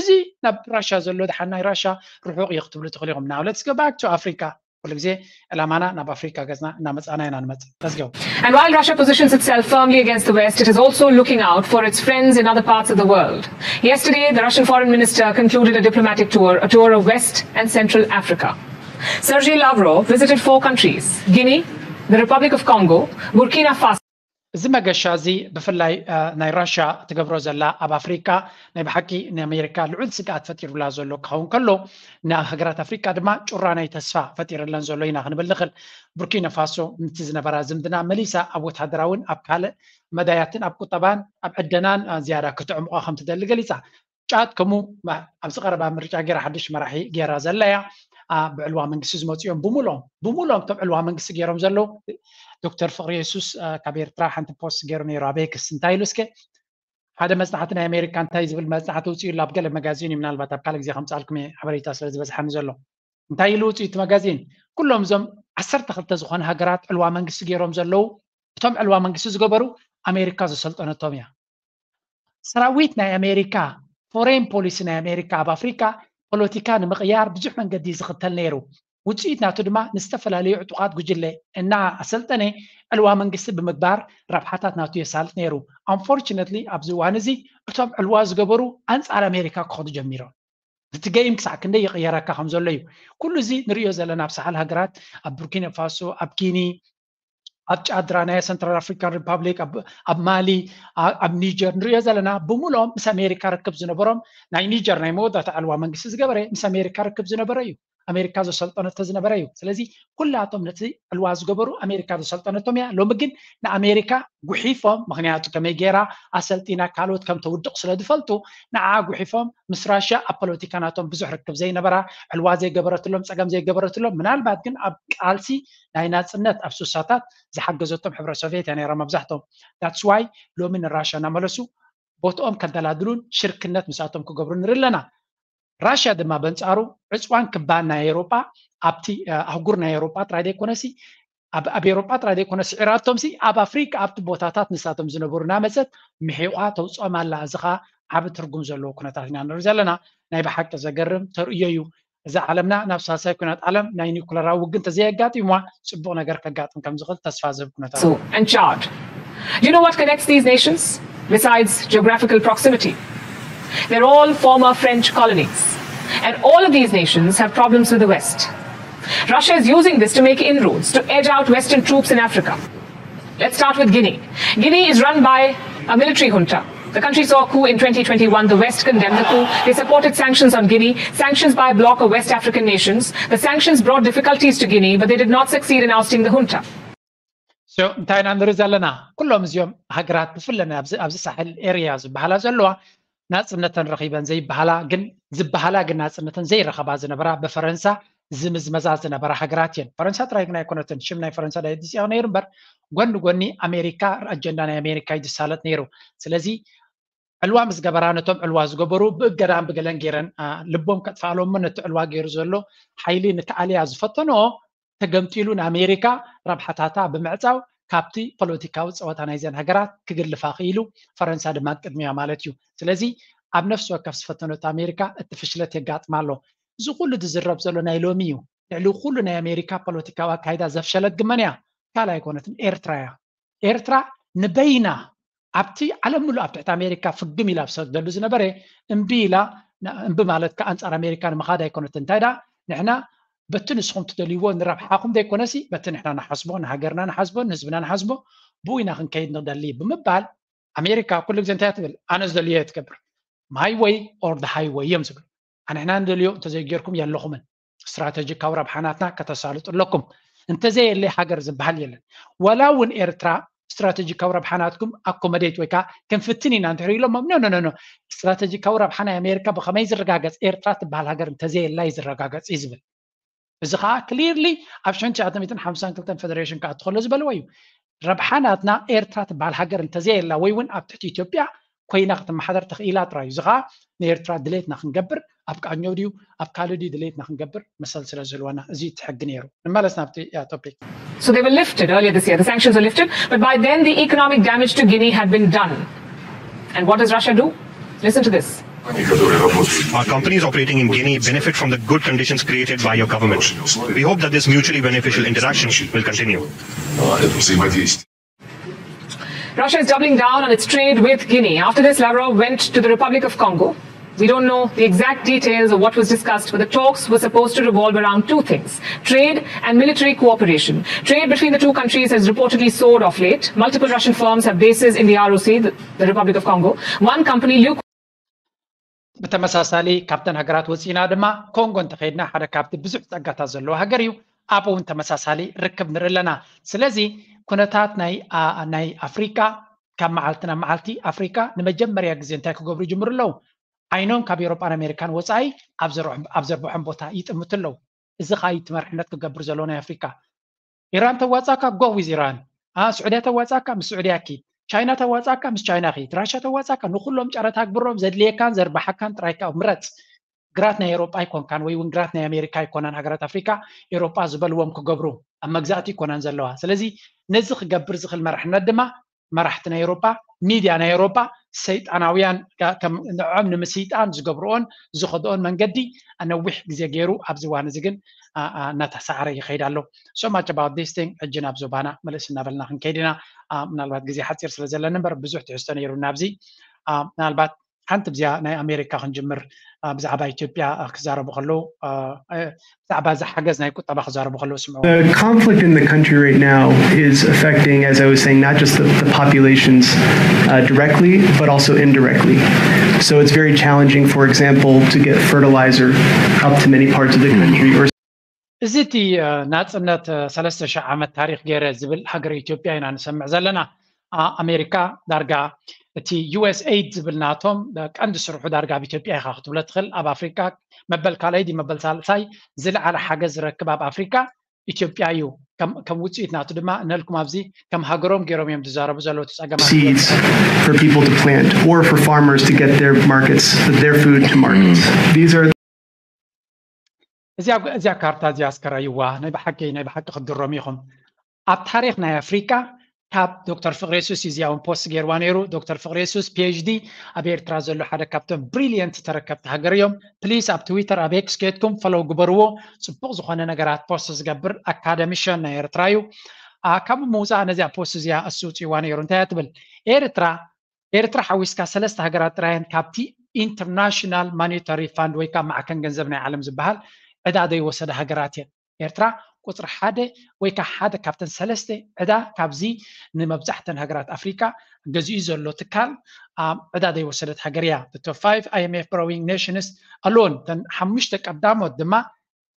እዚ ናብ ራሻ ዘሎ ድሓን ናይ ራሻ ርሑቕ እዩ ክትብሉ ትኽእሉ ኢኹም። Now let's go back to Africa። ኩሉ ግዜ ዕላማና ናብ ኣፍሪካ ገፅና እናመፃና ኢና ንመፅእ። Let's go. And while Russia positions itself firmly against the West, it is also looking out for its friends in other parts of the world. Yesterday, the Russian foreign minister concluded a diplomatic tour, a tour of West and Central Africa. Sergei Lavrov visited four countries: Guinea, the Republic of Congo, Burkina Faso. እዚ መገሻ እዚ ብፍላይ ናይ ራሻ ትገብሮ ዘላ ኣብ ኣፍሪካ ናይ ብሓቂ ንኣሜሪካ ልዑል ስግኣት ፈጢሩላ ዘሎ ክኸውን ከሎ፣ ንሃገራት ኣፍሪካ ድማ ጩራ ናይ ተስፋ ፈጢርለን ዘሎ ኢና ክንብል ንኽእል። ቡርኪና ፋሶ ነቲ ዝነበራ ዝምድና መሊሳ ኣብ ወታደራውን ኣብ ካልእ መዳያትን ኣብ ቁጠባን ኣብ ዕደናን ዝያዳ ክተዕምቆ ከም ትደሊ ገሊፃ። ጫት ከምኡ ኣብዚ ቀረባ ምርጫ ገይራ ሓድሽ መራሒ ገይራ ዘላ እያ። ብዕልዋ መንግስቲ ዝመፁ እዮም ብሙሎም ብሙሎም እቶም ዕልዋ መንግስቲ ገይሮም ዘለዉ። ዶክተር ፍቅሪ የሱስ ካብ ኤርትራ ሓንቲ ፖስት ገይሩ ነይሩ ኣብ ኤክስ። እንታይ ኢሉ እስከ ሓደ መፅናዕቲ ናይ ኣሜሪካ እንታይ ዝብል መፅናዕቲ ውፅኡ ኣሎ ኣብ ገለ መጋዚን እዩ። ምናልባት ኣብ ካልእ ግዜ ከምፅኣልኩም እየ ሓበሬታ ስለ ዝበዝሓኒ ዘሎ። እንታይ ኢሉ ውፅኡ እቲ መጋዚን? ኩሎም እዞም ዓሰርተ ክልተ ዝኾነ ሃገራት ዕልዋ መንግስቲ ገይሮም ዘለዉ እቶም ዕልዋ መንግስቲ ዝገበሩ ኣሜሪካ ዘሰልጠነቶም እያ። ሰራዊት ናይ ኣሜሪካ ፎሬን ፖሊሲ ናይ ኣሜሪካ ኣብ ኣፍሪካ ፖለቲካ ንምቕያር ብዙሕ መንገዲ ዝኽተል ነይሩ። ውፅኢት ናቱ ድማ ንዝተፈላለዩ ዕጡቓት ጉጅለ እና ኣሰልጠነ ዕልዋ መንግስቲ ብምግባር ረብሓታት ናቱ የሳልጥ ነይሩ። Unfortunately ኣብዚ እዋን እዚ እቶም ዕልዋ ዝገበሩ ኣንፃር ኣሜሪካ ክኸዱ ጀሚሮም። እቲ ገይም ክሳዕ ክንደይ ይቕየረካ ከም ዘሎ እዩ። ኩሉ እዚ ንሪኦ ዘለና ኣብ ሳሕል ሃገራት ኣብ ቡርኪና ፋሶ፣ ኣብ ጊኒ፣ ኣብ ጫድራ ናይ ሰንትራል ኣፍሪካን ሪፓብሊክ፣ ኣብ ማሊ፣ ኣብ ኒጀር ንሪኦ ዘለና ብምልኦም ምስ ኣሜሪካ ርክብ ዝነበሮም ናይ ኒጀር ናይ መወዳእታ ዕልዋ መንግስቲ ዝገበረ ምስ ኣሜሪካ ርክብ ዝነበረ እዩ። ኣሜሪካ ዘሰልጠነቶ ዝነበረ እዩ። ስለዚ ኩላቶም ነቲ ዕልዋ ዝገበሩ ኣሜሪካ ዘሰልጠነቶም እያ። ሎሚ ግን ንኣሜሪካ ጉሒፎም፣ ምክንያቱ ከመይ ገይራ ኣሰልጢና ካልኦት ከም ተውድቕ ስለ ዝፈልጡ ንዓ ጉሒፎም ምስ ራሽያ ኣብ ፖለቲካ ናቶም ብዙሕ ርክብ ዘይነበራ፣ ዕልዋ ዘይገበረትሎም፣ ፀገም ዘይገበረትሎም፣ ምናልባት ግን ኣብ ቃልሲ ናይ ናፅነት ኣብ ሱሳታት ዝሓገዘቶም ሕብረ ሶቪየት እያ ነይራ መብዛሕቶም። That's why ሎሚ ንራሽያ እናመለሱ ቦትኦም ከደላድሉን ሽርክነት ምስኣቶም ክገብሩ ንርኢ ኣለና። ራሽያ ድማ በንፃሩ ዕፅዋን ክባን ናይ ኤሮጳ ኣብቲ ኣህጉር ናይ ኤሮጳ ጥራይ ዘይኮነሲ ኣብ ኤሮጳ ጥራይ ዘይኮነ ስዒራቶም ሲ ኣብ ኣፍሪካ ኣብቲ ቦታታት ንሳቶም ዝነበሩ ናመፀት ምሒቋ ተውፅኦም ኣላ። እዚ ከዓ ዓብ ትርጉም ዘለዎ ኩነታት ኢና ንርኢ ዘለና። ናይ ብሓቂ ዘገርም ተርእዮ እዩ። እዛ ዓለምና ናብ ሳልሳይ ኩናት ዓለም ናይ ኒኩለራዊ ውግን ተዘየጋጢምዋ ፅቡቕ ነገር ከጋጥም ከም ዝኽእል ተስፋ ዝህብ ኩነታት። And Chad. Do you know what connects these nations besides geographical proximity? They're all former French colonies. And all of these nations have problems with the West. Russia is using this to make inroads to edge out Western troops in Africa. Let's start with Guinea. Guinea is run by a military junta. The country saw a coup in twenty twenty-one. The West condemned the coup. They supported sanctions on Guinea, sanctions by a bloc of West African nations. The sanctions brought difficulties to Guinea, but they did not succeed in ousting the junta. እንታይ ኢና ንርኢ ዘለና? ኩሎም እዚኦም ሃገራት ብፍለ ኣብዚ ሳሕል ኤርያ ዝበሃላ ዘለዋ ናፅነተን ረኺበን ዘይበሃላ ግን ዝበሃላ ግን ናፅነተን ዘይረኸባ ዝነበራ ብፈረንሳ ዝምዝመዛ ዝነበራ ሃገራት እየን። ፈረንሳ ጥራይ ግን ኣይኮነትን። ሽም ናይ ፈረንሳ ዳየት ዝፅያ ነይሩ እምበር ጎኒ ጎኒ ኣሜሪካ ኣጀንዳ ናይ ኣሜሪካ እዩ ዝሳለጥ ነይሩ። ስለዚ ዕልዋ ምስ ገበራ ነቶም ዕልዋ ዝገበሩ ብእገዳን ብገለን ገይረን ልቦም ከጥፋኣሎሞ ነቲ ዕልዋ ገይሩ ዘሎ ሓይሊ ንክኣልያ ዝፈተኖ ተገምጢሉ ንኣሜሪካ ረብሓታታ ብምዕፃው ካብቲ ፖለቲካዊ ፀወታ ናይዘን ሃገራት ክግልፋ ክኢሉ ፈረንሳ ድማ ቅድሚያ ማለት እዩ። ስለዚ ኣብ ነፍሲ ወከፍ ዝፈተነቶ ኣሜሪካ እቲ ፍሽለት የጋጥማ ኣሎ። እዚ ኩሉ ዝዝረብ ዘሎ ናይ ሎሚ እዩ። ልዕሊ ኩሉ ናይ ኣሜሪካ ፖለቲካዊ ኣካይዳ ዘፍሸለት ግመን እያ ካልእ ኣይኮነትን ኤርትራ እያ። ኤርትራ ንበይና ኣብቲ ዓለም ምሉእ ኣብ ትሕቲ ኣሜሪካ ፍግም ኢላ ኣብ ሰግደሉ ዝነበረ እምቢ ኢላ እምቢ ማለት ከ ኣንፃር ኣሜሪካ ንምኻድ ኣይኮነትን። እንታይ ደኣ ንሕና በቲ ንስኹም ትደልይዎ ንረብሓኹም ዘይኮነሲ በቲ ንሕና ንሓስቦ ንሃገርና ንሓስቦ ንህዝብና ንሓስቦ ብኡ ኢና ክንከይድ ንደሊ ብምባል ኣሜሪካ ኩሉ ግዜ እንታይ ትብል? ኣነ ዝደልዮ እየ ትገብር። My way or the highway እዮም ዝብል። ኣንሕና ንደልዮ እንተዘይጌርኩም የለኹምን። ስትራተጂካዊ ረብሓናትና ከተሳልጡ ኣለኩም። እንተዘየለ ሃገር ዝበሃል የለን። ዋላ እውን ኤርትራ ስትራተጂካዊ ረብሓናትኩም ኣኮመዴት ወይ ከዓ ክንፍትን ኢና እንድሕር ኢሎሞም፣ ኖ ኖ ኖ፣ ስትራተጂካዊ ረብሓ ናይ ኣሜሪካ ብኸመይ ዝረጋገፅ? ኤርትራ ትበሃል ሃገር እንተዘየላ እዩ ዝረጋገፅ እዩ ዝብል። እዚ ከዓ ክሊርሊ ኣብ ሽሕን ትሽዓተ ሚእትን ሓምሳን ክልተን ፌደሬሽን ክኣቱ ከሎ ዝበልዎ እዩ። ረብሓ ናትና ኤርትራ ትበሃል ሃገር እንተዘየላ ወይ እውን ኣብ ትሕቲ ኢትዮጵያ ኮይና ክትመሓደር ተኽኢላ ጥራይ እዩ። እዚ ከዓ ንኤርትራ ድሌትና ክንገብር ኣብ ቃኘው ድዩ ኣብ ካልእ ድዩ ድሌትና ክንገብር መሰል ስለ ዝህልወና እዚ እቲ ሕጊ ነይሩ። ንመለስ ናብቲ ያ ቶፒክ። So they were lifted earlier this year. The sanctions were lifted, but by then the economic damage to Guinea had been done. And what does Russia do? Listen to this. Our companies operating in Guinea benefit from the good conditions created by your government. We hope that this mutually beneficial interaction will continue. Russia is doubling down on its trade with Guinea. After this, Lavrov went to the Republic of Congo. We don't know the exact details of what was discussed, but the talks were supposed to revolve around two things: trade and military cooperation. Trade between the two countries has reportedly soared of late. Multiple Russian firms have bases in the R O C, the, the Republic of Congo. One company, Luke. ብተመሳሳሊ ካብተን ሃገራት ወፂና ድማ ኮንጎ እንተኸይድና ሓደ ካብቲ ብዙሕ ፀጋታት ዘለዎ ሃገር እዩ። ኣብኡ እውን ተመሳሳሊ ርክብ ንርኢ ኣለና። ስለዚ ኩነታት ናይ ናይ ኣፍሪካ ካብ መዓልቲ ናብ መዓልቲ ኣፍሪካ ንመጀመርያ ግዜ እንታይ ክገብሩ ይጅምሩ ኣለዉ? ዓይኖም ካብ ኤሮጳን ኣሜሪካን ወፃኢ ኣብ ዘርብሖም ቦታ ይጥምቱ ኣለዉ። እዚ ከዓ እቲ መርሕነት ክገብር ዘለዎ ናይ ኣፍሪካ። ኢራን ተዋፃካ፣ go with ኢራን። ስዑድያ ተዋፃካ፣ ምስ ስዑድያ ኪድ። ቻይና ተዋፃካ፣ ምስ ቻይና ኪድ። ራሻ ተዋፃካ፣ ንኩሎም ጨረታ ግብሮም ዘድልየካን ዘርባሓካን ጥራይካ ምረፅ። ግራት ናይ ኤሮጳ ኣይኮንካን ወይ እውን ግራት ናይ ኣሜሪካ ኣይኮናን። ሃገራት ኣፍሪካ ኤሮጳ ዝበልዎም ክገብሩ ኣብ መግዛእቲ ኣይኮናን ዘለዋ። ስለዚ ነዚ ክገብር ዝኽእል መራሕነት ድማ መራሕቲ ናይ ኤሮጳ፣ ሚድያ ናይ ኤሮጳ ሰይጣናውያን ንዕኦም ንምስይጣን ዝገብርኦን ዝኸድኦን መንገዲ ነዊሕ ግዜ ገይሩ ኣብዚ እዋን እዚ ግን እናተሳዕረ ይኸይድ ኣሎ። So much about this thing። ሕጂ ናብ ዞባና መለስ እናበልና ክንከይድ ኢና። ምናልባት ግዜ ሓፂር ስለ ዘለኒ እምበር ብዙሕ ትሕዝቶ ነይሩ ናብዚ። ምናልባት ሓንቲ ብዚኣ ናይ ኣሜሪካ ክንጅምር። ብዛዕባ ኢትዮጵያ ክዛረቡ ከለዉ ብዛዕባ እዚ ሓገዝ ናይ ቁጠባ ክዛረቡ ከለዉ ስምዑ። The conflict in the country right now is affecting, as I was saying, not just the, the populations uh, directly, but also indirectly. So it's very challenging, for example, to get fertilizer up to many parts of the country. Or እዚ እቲ ናፅነት ሰለስተ ሺሕ ዓመት ታሪክ ገይረ ዝብል ሃገረ ኢትዮጵያ ኢና ንሰምዕ ዘለና። ኣሜሪካ ዳርጋ እቲ ዩኤስኤይድ ዝብል ናቶም ቀንዲ ስርሑ ዳርጋ ኣብ ኢትዮጵያ ኢኻ ክትብሎ ትኽእል። ኣብ ኣፍሪካ መበል ካልኣይ ድዩ መበል ሳልሳይ ዝለዓለ ሓገዝ ዝረክብ ኣብ ኣፍሪካ ኢትዮጵያ እዩ። ከም ውፅኢት ናቱ ድማ ነልኩም ኣብዚ ከም ሃገሮም ገይሮም እዮም ዝዛረቡ ዘለዉ እቲ ፀገማት። seeds for people to plant or for farmers to get their markets, their food to markets. These are እዚኣ እዚኣ ካርታ እዚኣ እስከ ራይዋ ናይ ብሓቂ ናይ ብሓቂ ክትግረሙ ኢኹም። ኣብ ታሪክ ናይ ኣፍሪካ ካብ ዶክተር ፍቅሬሱስ እዩ እዚኣ እውን ፖስት ገይርዋ ነይሩ። ዶክተር ፍቅሬሱስ ፒኤችዲ ኣብ ኤርትራ ዘሎ ሓደ ካብቶም ብሪሊየንት ተረከብቲ ሃገር እዮም። ፕሊስ ኣብ ትዊተር ኣብ ኤክስ ከድኩም ፈሎው ግበርዎ። ፅቡቅ ዝኮነ ነገራት ፖስት ዝገብር ኣካደሚሽን ናይ ኤርትራ እዩ። ካብ ምውፃእ ነዚኣ ፖስት እዚኣ እሱ ውፅእዋ ነይሩ። እንታይ እያ ትብል? ኤርትራ ኤርትራ ሓዊስካ ሰለስተ ሃገራት ጥራየን ካብቲ ኢንተርናሽናል ማኒታሪ ፋንድ ወይ ካብ ማዕከን ገንዘብ ናይ ዓለም ዝበሃል ዕዳ ዘይወሰደ ሃገራት እየን። ኤርትራ ቁፅሪ ሓደ ወይ ከዓ ሓደ ካብተን ሰለስተ ዕዳ ካብዚ ንመብዛሕተን ሃገራት ኣፍሪካ ገዚኡ ዘሎ ትካል ዕዳ ዘይወሰደት ሃገር እያ። ቶፕ ፋይቭ ኣይኤምኤፍ ቦሮዊንግ ኔሽንስ ኣሎን ተን ሓሙሽተ ቀዳሞት ድማ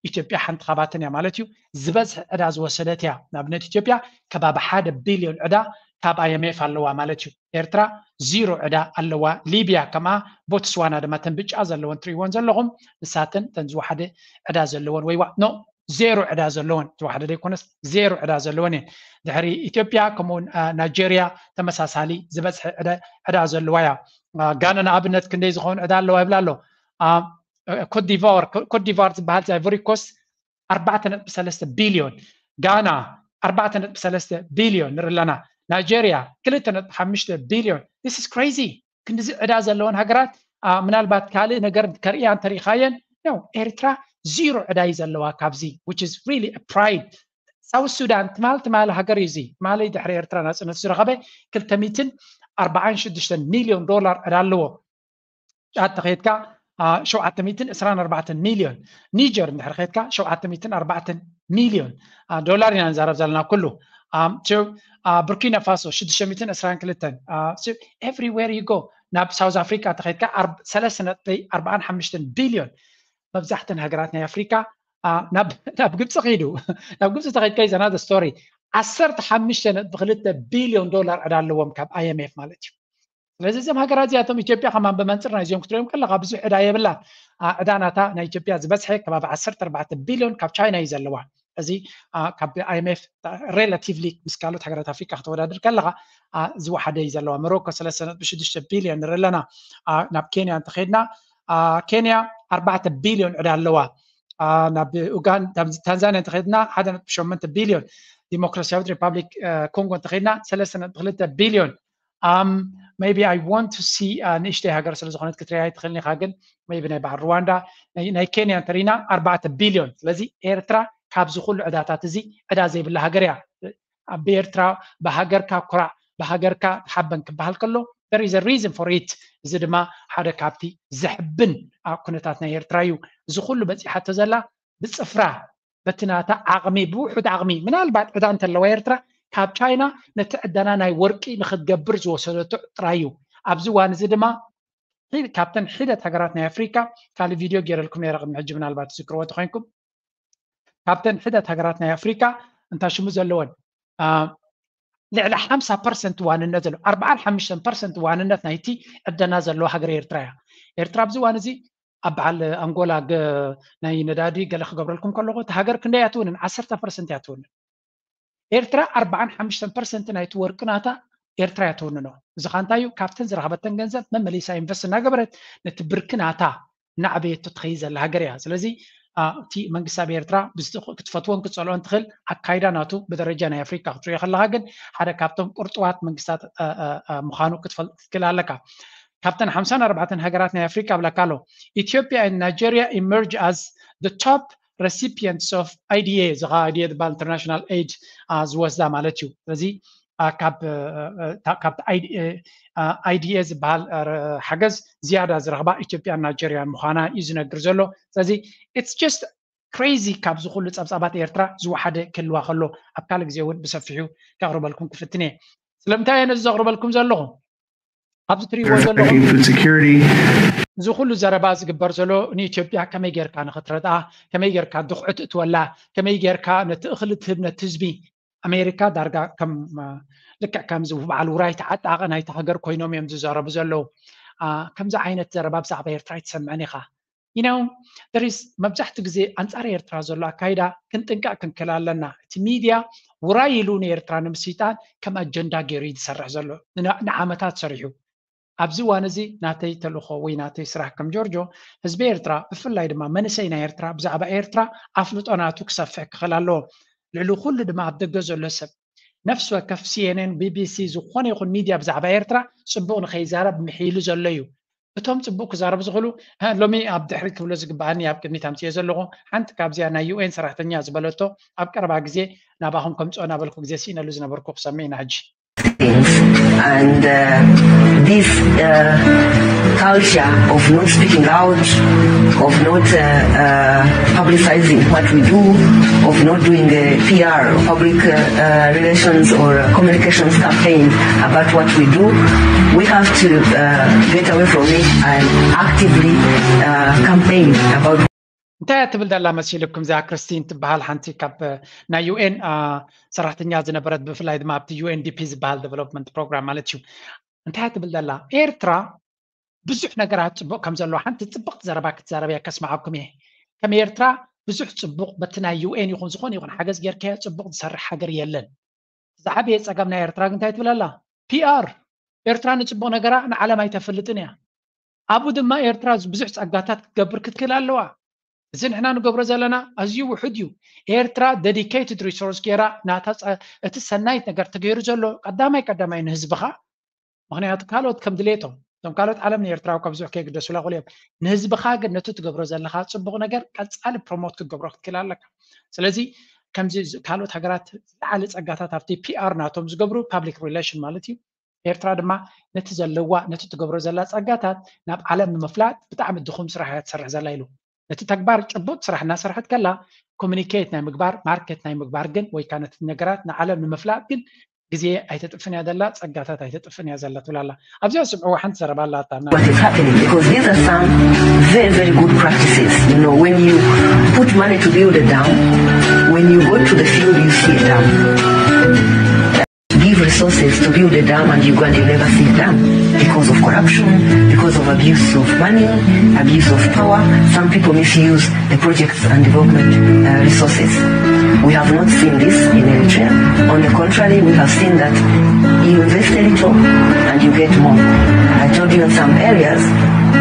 ኢትዮጵያ ሓንቲ ካባተን እያ ማለት እዩ። ዝበዝሕ ዕዳ ዝወሰደት እያ። ንኣብነት ኢትዮጵያ ከባቢ ሓደ ቢልዮን ዕዳ ካብ ኣይኤምኤፍ ኣለዋ ማለት እዩ። ኤርትራ ዚሮ ዕዳ ኣለዋ። ሊብያ ከምኣ፣ ቦትስዋና ድማ ተን ብጫ ዘለወን ትሪእወን ዘለኹም ንሳተን ተን ዝወሓደ ዕዳ ዘለወን ወይ ዋ ኖ ዜሮ ዕዳ ዘለወን ዝወሓደ ዘይኮነስ ዜሮ ዕዳ ዘለወን እየን። ድሕሪ ኢትዮጵያ ከምኡውን ናይጀርያ ተመሳሳሊ ዝበዝሐ ዕዳ ዘለዋ እያ። ጋና ንኣብነት ክንደይ ዝኸውን ዕዳ ኣለዋ ይብላ ኣሎ። ኮትዲቫር ኮትዲቫር ዝበሃል ዛይቮሪ ኮስት ኣርባዕተ ነጥቢ ሰለስተ ቢልዮን፣ ጋና ኣርባዕተ ነጥቢ ሰለስተ ቢልዮን ንርኢ ኣለና። ናይጀርያ ክልተ ነጥቢ ሓሙሽተ ቢልዮን። This is crazy። ክንድዚ ዕዳ ዘለወን ሃገራት ምናልባት ካልእ ነገር ከርእያ እንተሪኢኻየን ነው። ኤርትራ ዚሮ ዕዳ እዩ ዘለዋ ካብዚ which is really a pride። ሳውት ሱዳን ትማል ትማሊ ሃገር እዩ እዚ ትማሊ ድሕሪ ኤርትራ ናፅነት ዝረኸበ ክልተ ሚእትን ኣርባዓን ሽዱሽተን ሚልዮን ዶላር ዕዳ ኣለዎ። ጫት ተኸይድካ ሸውዓተ ሚእትን ዕስራን ኣርባዕተን ሚልዮን። ኒጀር እንድሕር ከድካ ሸውዓተ ሚእትን ኣርባዕተን ሚልዮን ዶላር ኢና ንዛረብ ዘለና ኩሉ። ቡርኪና ፋሶ ሽዱሽተ ሚእትን ዕስራን ክልተን። Everywhere you go፣ ናብ ሳውዝ ኣፍሪካ እንተኸድካ ሰለስተ ነጥቢ ኣርባዓን ሓሙሽተን ቢልዮን። መብዛሕተን ሃገራት ናይ ኣፍሪካ ናብ ግብፂ ከይዱ። ናብ ግብፂ ተኸድካ is another story። ዓሰርተ ሓሙሽተ ነጥቢ ክልተ ቢልዮን ዶላር ዕዳ ኣለዎም ካብ ኣይኤምኤፍ ማለት እዩ። ስለዚ እዞም ሃገራት እዚኣቶም፣ ኢትዮጵያ ከማን ብመንፅር ናይዚኦም ክትሪኦም ከለካ ብዙሕ ዕዳ የብላን። ዕዳ ናታ ናይ ኢትዮጵያ ዝበዝሐ ከባቢ ዓሰርተ ኣርባዕተ ቢልዮን ካብ ቻይና እዩ ዘለዋ። እዚ ካብ ኣይኤምኤፍ ሬላቲቭሊ ምስ ካልኦት ሃገራት ኣፍሪካ ከተወዳድር ከለካ ዝወሓደ እዩ ዘለዋ። ሞሮኮ ሰለስተ ነጥቢ ሽዱሽተ ቢልዮን ንርኢ ኣለና። ናብ ኬንያ እንተኸድና፣ ኬንያ ኣርባዕተ ቢልዮን ዕዳ ኣለዋ። ናብ ኡጋን-፣ ናብ ታንዛንያ እንተኸድና ሓደ ነጥቢ ሸሞንተ ቢልዮን፣ ዲሞክራሲያዊት ሪፓብሊክ ኮንጎ እንተኸድና ሰለስተ ነጥቢ ክልተ ቢልዮን። Maybe I want to see ንእሽተይ ሃገር ስለ ዝኾነት ክትሪያ ኣይትኽእልን ኢኻ፣ ግን maybe ናይ በዓል ሩዋንዳ፣ ናይ ኬንያ እንተሪና ኣርባዕተ ቢልዮን። ስለዚ ኤርትራ ካብዚ ኩሉ ዕዳታት እዚ ዕዳ ዘይብላ ሃገር እያ። ብኤርትራ ብሃገርካ ኩራዕ፣ ብሃገርካ ተሓበን ክበሃል ከሎ there is a reason for it። እዚ ድማ ሓደ ካብቲ ዘሕብን ኩነታት ናይ ኤርትራ እዩ። እዚ ኩሉ በፂሓቶ ዘላ ብፅፍራ በቲ ናታ ዓቕሚ፣ ብውሑድ ዓቕሚ፣ ምናልባት ዕዳ እንተለዋ ኤርትራ ካብ ቻይና ነቲ ዕዳና ናይ ወርቂ ንክትገብር ዝወሰደቶ ጥራይ እዩ። ኣብዚ እዋን እዚ ድማ ካብተን ሒደት ሃገራት ናይ ኣፍሪካ፣ ካልእ ቪድዮ ገይረልኩም ነይረ ቅድሚ ሕጂ፣ ምናልባት ትዝክርዎ ተኮይንኩም፣ ካብተን ሒደት ሃገራት ናይ ኣፍሪካ እንታይ ሽሙ ዘለወን ልዕሊ ሓምሳ ፐርሰንት ዋንነት ዘለዎ፣ ኣርባዓን ሓሙሽተን ፐርሰንት ዋንነት ናይቲ ዕደና ዘለዎ ሃገር ኤርትራ እያ። ኤርትራ ኣብዚ እዋን እዚ ኣብ በዓል ኣንጎላ ናይ ነዳዲ ገለ ክገብረልኩም ከለኹ፣ እቲ ሃገር ክንደይ እትውንን? ዓሰርተ ፐርሰንት እያ ትውንን። ኤርትራ ኣርባዓን ሓሙሽተን ፐርሰንት ናይቲ ወርቂ ናታ ኤርትራ እያ ትውንኖ። እዚ ኸ እንታይ እዩ? ካብተን ዝረኸበተን ገንዘብ መመሊሳ ኢንቨስት እናገበረት ነቲ ብርኪ ናታ እናዕበየቶ ትኸይድ ዘላ ሃገር እያ። ስለዚ እቲ መንግስቲ ኣብ ኤርትራ ክትፈትዎን ክትፀልኦን ትኽእል፣ ኣካይዳ ናቱ ብደረጃ ናይ ኣፍሪካ ክትሪኦ ከለካ ግን ሓደ ካብቶም ቁርጥዋት መንግስታት ምዃኑ ክትፈልጥ ትክእል ኣለካ። ካብተን ሓምሳን ኣርባዕተን ሃገራት ናይ ኣፍሪካ ብለካ ኣሎ። Ethiopia and Nigeria emerge as the top recipients of I D A። እዚ ከዓ I D A ዝበሃል ኢንተርናሽናል ኤድ ዝወስዳ ማለት እዩ። ስለዚ ካብ I D A ዝበሃል ሓገዝ ዝያዳ ዝረኽባ ኢትዮጵያን ናይጀርያን ምዃና እዩ ዝነግር ዘሎ። ስለዚ it's just crazy። ካብዚ ኩሉ ፀብፃባት ኤርትራ ዝወሓደ ክህልዋ ከሎ ኣብ ካልእ ግዜ እውን ብሰፊሑ ከቕርበልኩም ክፍትን እየ። ስለምንታይ እየ ነዚ ዘቕርበልኩም ዘለኹ? ኣብዚ ትሪእዎ ዘለኹም እዚ ኩሉ ዘረባ ዝግበር ዘሎ ንኢትዮጵያ ከመይ ጌርካ ንክትረድኣ፣ ከመይ ጌርካ ድኽዑ ትእትወላ፣ ከመይ ጌርካ ነቲ እኽሊ ትህብ ነቲ ህዝቢ። ኣሜሪካ ዳርጋ ከም ልክዕ ከምዚ በዓል ውራይ ተዓጣቐ ናይቲ ሃገር ኮይኖም እዮም ዝዛረቡ ዘለዉ። ከምዚ ዓይነት ዘረባ ብዛዕባ ኤርትራ ኣይትሰምዕን ኢኻ። You know, there is መብዛሕትኡ ግዜ ኣንጻር ኤርትራ ዘሎ ኣካይዳ ክንጥንቀቕ ክንክእል ኣለና። እቲ ሚድያ ውራይ ኢሉ ንኤርትራ ንምስይጣን ከም ኣጀንዳ ገይሩ እዩ ዝሰርሕ ዘሎ። ንዓመታት ሰሪሑ። ኣብዚ እዋን እዚ ናተይ ተልእኾ ወይ ናተይ ስራሕ ከም ጆርጆ ህዝቢ ኤርትራ ብፍላይ ድማ መንእሰይ ናይ ኤርትራ ብዛዕባ ኤርትራ ኣፍልጦ ናቱ ክሰፍሕ ክኽእል ኣለዎ። ልዕሊ ኩሉ ድማ ኣብ ደገ ዘሎ ሰብ ነፍሲ ወከፍ ሲኤንኤን፣ ቢቢሲ፣ ዝኾነ ይኹን ሚድያ ብዛዕባ ኤርትራ ጽቡቕ ንኸይዛረብ ምሒሉ ዘሎ እዩ። እቶም ጽቡቕ ክዛረቡ ዝኽእሉ ሎሚ ኣብ ድሕሪት ክብሎ ዝግበኣኒ ኣብ ቅድሚት ኣምፅዮ ዘለኹ ሓንቲ ካብዚኣ ናይ ዩኤን ሰራሕተኛ ዝበለቶ ኣብ ቀረባ ግዜ ናባኹም ከምፅኦ እናበልኩ ግዜ ስኢነሉ ዝነበርኩ ክሰምዕ ኢና ሕጂ። And uh, this uh, culture of not speaking out, of not uh, uh, publicizing what we do, of not doing a P R, public uh, uh, relations or communications campaign about what we do, we have to uh, get away from it and actively uh, campaign about. እንታይ እያ ትብል ዘላ መሲልኩም? እዚኣ ክርስቲን ትበሃል ሓንቲ ካብ ናይ ዩኤን ሰራሕተኛ ዝነበረት፣ ብፍላይ ድማ ኣብቲ ዩኤንዲፒ ዝበሃል ዴቨሎፕመንት ፕሮግራም ማለት እዩ። እንታይ እያ ትብል ዘላ? ኤርትራ ብዙሕ ነገራት ጽቡቕ ከም ዘለዎ ሓንቲ ጽብቕቲ ዘረባ ክትዛረብ እየ ከስምዓኩም እየ። ከም ኤርትራ ብዙሕ ጽቡቕ በቲ ናይ ዩኤን ይኹን ዝኾነ ይኹን ሓገዝ ጌርካዮ ጽቡቕ ዝሰርሕ ሃገር የለን። ዝዓበየ ጸገም ናይ ኤርትራ ግን እንታይ ትብል ኣላ? ፒኣር። ኤርትራ ንጽቡቕ ነገራ ንዓለም ኣይተፍልጥን እያ። ኣብኡ ድማ ኤርትራ ብዙሕ ጸጋታት ክትገብር ክትክእል ኣለዋ። እዚ ንሕና ንገብሮ ዘለና ኣዝዩ ውሑድ እዩ። ኤርትራ ዴዲኬትድ ሪሶርስ ጌራ ናታ እቲ ሰናይት ነገር ተገይሩ ዘሎ ቀዳማይ ቀዳማይ ንህዝብኻ። ምኽንያቱ ካልኦት ከም ድሌቶም እቶም ካልኦት ዓለም ንኤርትራዊ ከብዝሑ ከይግደሱላ ክእሉ እዮም። ንህዝብኻ ግን ነቲ ትገብሮ ዘለኻ ጽቡቕ ነገር ቀጻሊ ፕሮሞት ክትገብሮ ክትክእል ኣለካ። ስለዚ ከምዚ ካልኦት ሃገራት ዝለዓለ ጸጋታት ኣብቲ ፒኣር ናቶም ዝገብሩ ፓብሊክ ሪሌሽን ማለት እዩ ኤርትራ ድማ ነቲ ዘለዋ ነቲ ትገብሮ ዘላ ጸጋታት ናብ ዓለም ንምፍላጥ ብጣዕሚ ድኹም ስራሕ እያ ትሰርሕ ዘላ ኢሉ። ነቲ ተግባር ጭቡጥ ስራሕ እናሰርሐት ከላ ኮሚኒኬት ናይ ምግባር ማርኬት ናይ ምግባር ግን ወይ ከዓ ነቲ ነገራት ንዓለም ንምፍላጥ ግን ግዜ ኣይተጥፍን እያ ዘላ፣ ጸጋታት ኣይተጥፍን እያ ዘላ ትብል ኣላ። ኣብዚኣ ስምዕዋ ሓንቲ ዘረባ ኣላታ። What is happening, because these are some very, very good practices. You know, when you put money to build a dam, when you go to the field, you see a dam. Give resources to build a dam and you go and you never see a dam because of corruption, because of abuse of money, abuse of power. Some people misuse the projects and development uh, resources. We have not seen this in Eritrea. On the contrary, we have seen that you invest a little and you get more. I told you in some areas,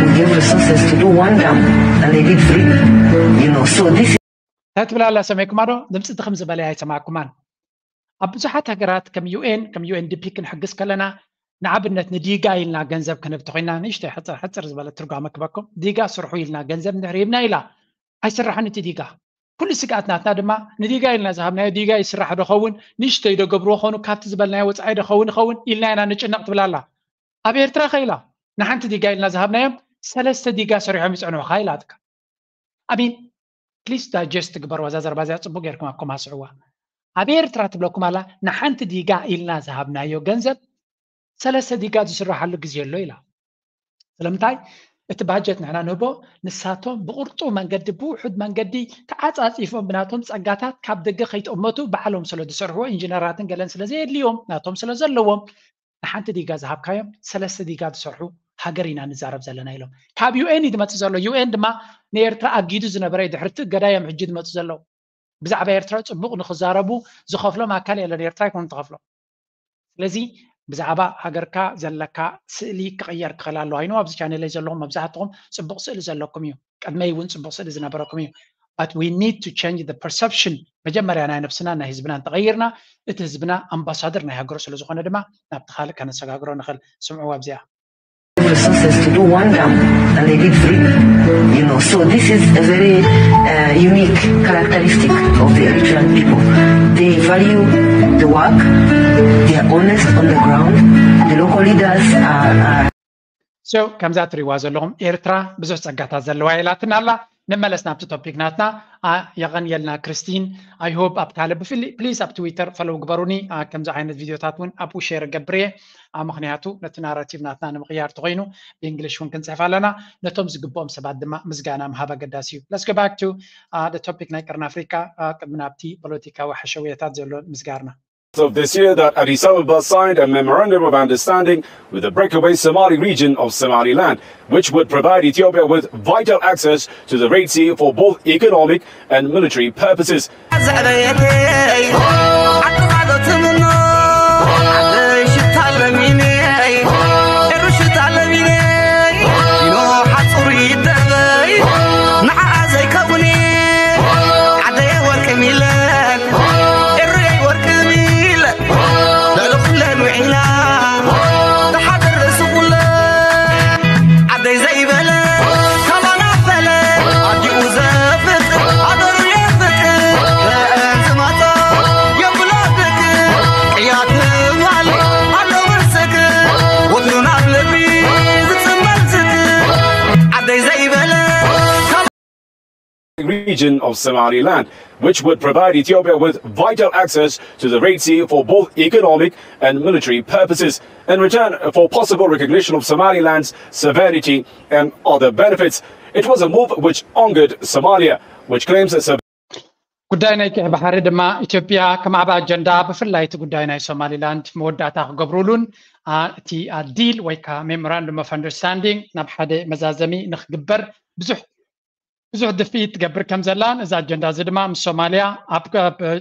we gave resources to do one dam and they did three. You know, so this እንታይ ትብላ ኣላ ሰመይኩማ ዶ? ድምፂ ድኽም ዝበለ ኣይሰማዕኩማን። ኣብ ብዙሓት ሃገራት ከም ዩኤን ከም ዩኤንዲፒ ክንሕግዝ ከለና ንኣብነት ንዲጋ ኢልና ገንዘብ ክንህብ ተኮይና ንእሽተይ ሕፅር ሕፅር ዝበለ ትርጓመ ክበኩም ዲጋ ስርሑ ኢልና ገንዘብ እንድሕር ሂብና ኢላ ኣይስራሕን እቲ ዲጋ ኩሉ ስግኣት ናትና ድማ ንዲጋ ኢልና ዝሃብናዮ ዲጋ ይስራሕ ዶ ኸውን ንእሽተይ ዶ ገብርዎ ኾኑ ካብቲ ዝበልናዮ ወፃኢ ዶ ኸውን ይኸውን ኢልና ኢና ንጭነቕ ትብላ ኣላ ኣብ ኤርትራ ከ ኢላ ንሓንቲ ዲጋ ኢልና ዝሃብናዮም ሰለስተ ዲጋ ሰሪሖም ይፀንሑኻ ኢላትካ I mean please digest ግበርዋ እዛ ዘረባ እዚኣ ፅቡቅ ጌርኩም ኣብ ኮማ ስዕዋ ኣብ ኤርትራ ትብለኩም ኣላ ንሓንቲ ዲጋ ኢልና ዝሃብናዮ ገንዘብ ሰለስተ ዲጋ ዝስራሓሉ ግዜ ኣሎ ኢላ ስለምንታይ እቲ ባጀት ንሕና ንህቦ ንሳቶም ብቁርጡ መንገዲ ብውሑድ መንገዲ ተዓፃፂፎም ብናቶም ፀጋታት ካብ ደገ ከይጠመቱ ባዕሎም ስለ ዝሰርሕዎ ኢንጂነራትን ገለን ስለ ዘየድልዮም ናቶም ስለ ዘለዎም ንሓንቲ ዲጋ ዝሃብካዮም ሰለስተ ዲጋ ዝሰርሑ ሃገር ኢና ንዛረብ ዘለና ኢሎም ካብ ዩኤን እዩ ዝመፅእ ዘሎ ዩኤን ድማ ንኤርትራ ኣጊዱ ዝነበረ ድሕርቲ እገዳ እዮም ሕጂ ዝመፁ ዘለዉ ብዛዕባ ኤርትራ ፅቡቅ ንክዛረቡ ዝኸፍሎም ኣካል የለን ኤርትራ ይኮኑ ትኸፍሎም ስለዚ ብዛዕባ ሃገርካ ዘለካ ስእሊ ክቕየር ክኽእል ኣለዋ ይኖ ኣብዚ ቻነለይ ዘለኹም መብዛሕትኹም ፅቡቅ ስእሊ ዘለኩም እዩ ቅድመይ እውን ፅቡቅ ስእሊ ዝነበረኩም እዩ but we need to change the perception መጀመርያ ናይ ነብስና ናይ ህዝብና እንተቐይርና እቲ ህዝብና ኣምባሳደር ናይ ሃገሩ ስለ ዝኾነ ድማ ናብቲ ካልእ ከነሰጋግሮ ንኽእል ስምዕዎ ኣብዚኣ resources to do one dam and they did three. You know, so this is a very uh, unique characteristic of the Eritrean people. They value the work, they are honest on the ground, the local leaders are, are so ከምዛ ትሪዋ ዘለኹም ኤርትራ ብዙሕ ጸጋታት ዘለዋ ኢላትና ኣላ ንመለስ ናብቲ ቶፒክ ናትና የቐንየልና ክርስቲን I hope ኣብ ካልእ ብፍሊ ፕሊዝ ኣብ ትዊተር ፈለው ግበሩኒ ከምዚ ዓይነት ቪድዮታት እውን ኣብኡ ሼር ገብር እየ ምክንያቱ ነቲ ናራቲቭ ናትና ንምቕያር ተኮይኑ ብእንግሊሽ እውን ክንፅሕፍ ኣለና ነቶም ዝግብኦም ሰባት ድማ ምስጋና ምሃብ ኣገዳሲ እዩ let's go back to the topic ናይ ቀርኒ ኣፍሪካ ቅድሚ ናብቲ ፖለቲካዊ ሓሸውየታት ዘሎ ምስጋርና of this year that Addis Ababa signed a memorandum of understanding with the breakaway Somali region of Somaliland, which would provide Ethiopia with vital access to the Red Sea for both economic and military purposes. Region of Somaliland, which would provide Ethiopia with vital access to the Red Sea for both economic and military purposes. In return for possible recognition of Somaliland's sovereignty and other benefits. It was a move which angered Somalia, which claims that ጉዳይ ናይ ቀይ ባሕሪ ድማ ኢትዮጵያ ከም ዓብ ኣጀንዳ ብፍላይ እቲ ጉዳይ ናይ ሶማሊላንድ መወዳእታ ክገብሩሉን እቲ ዲል ወይ ከዓ memorandum of understanding ናብ ሓደ መዛዘሚ ንክግበር ብዙሕ ብዙሕ ድፍኢት ትገብር ከም ዘላን እዚ ኣጀንዳ እዚ ድማ ምስ ሶማልያ ኣብ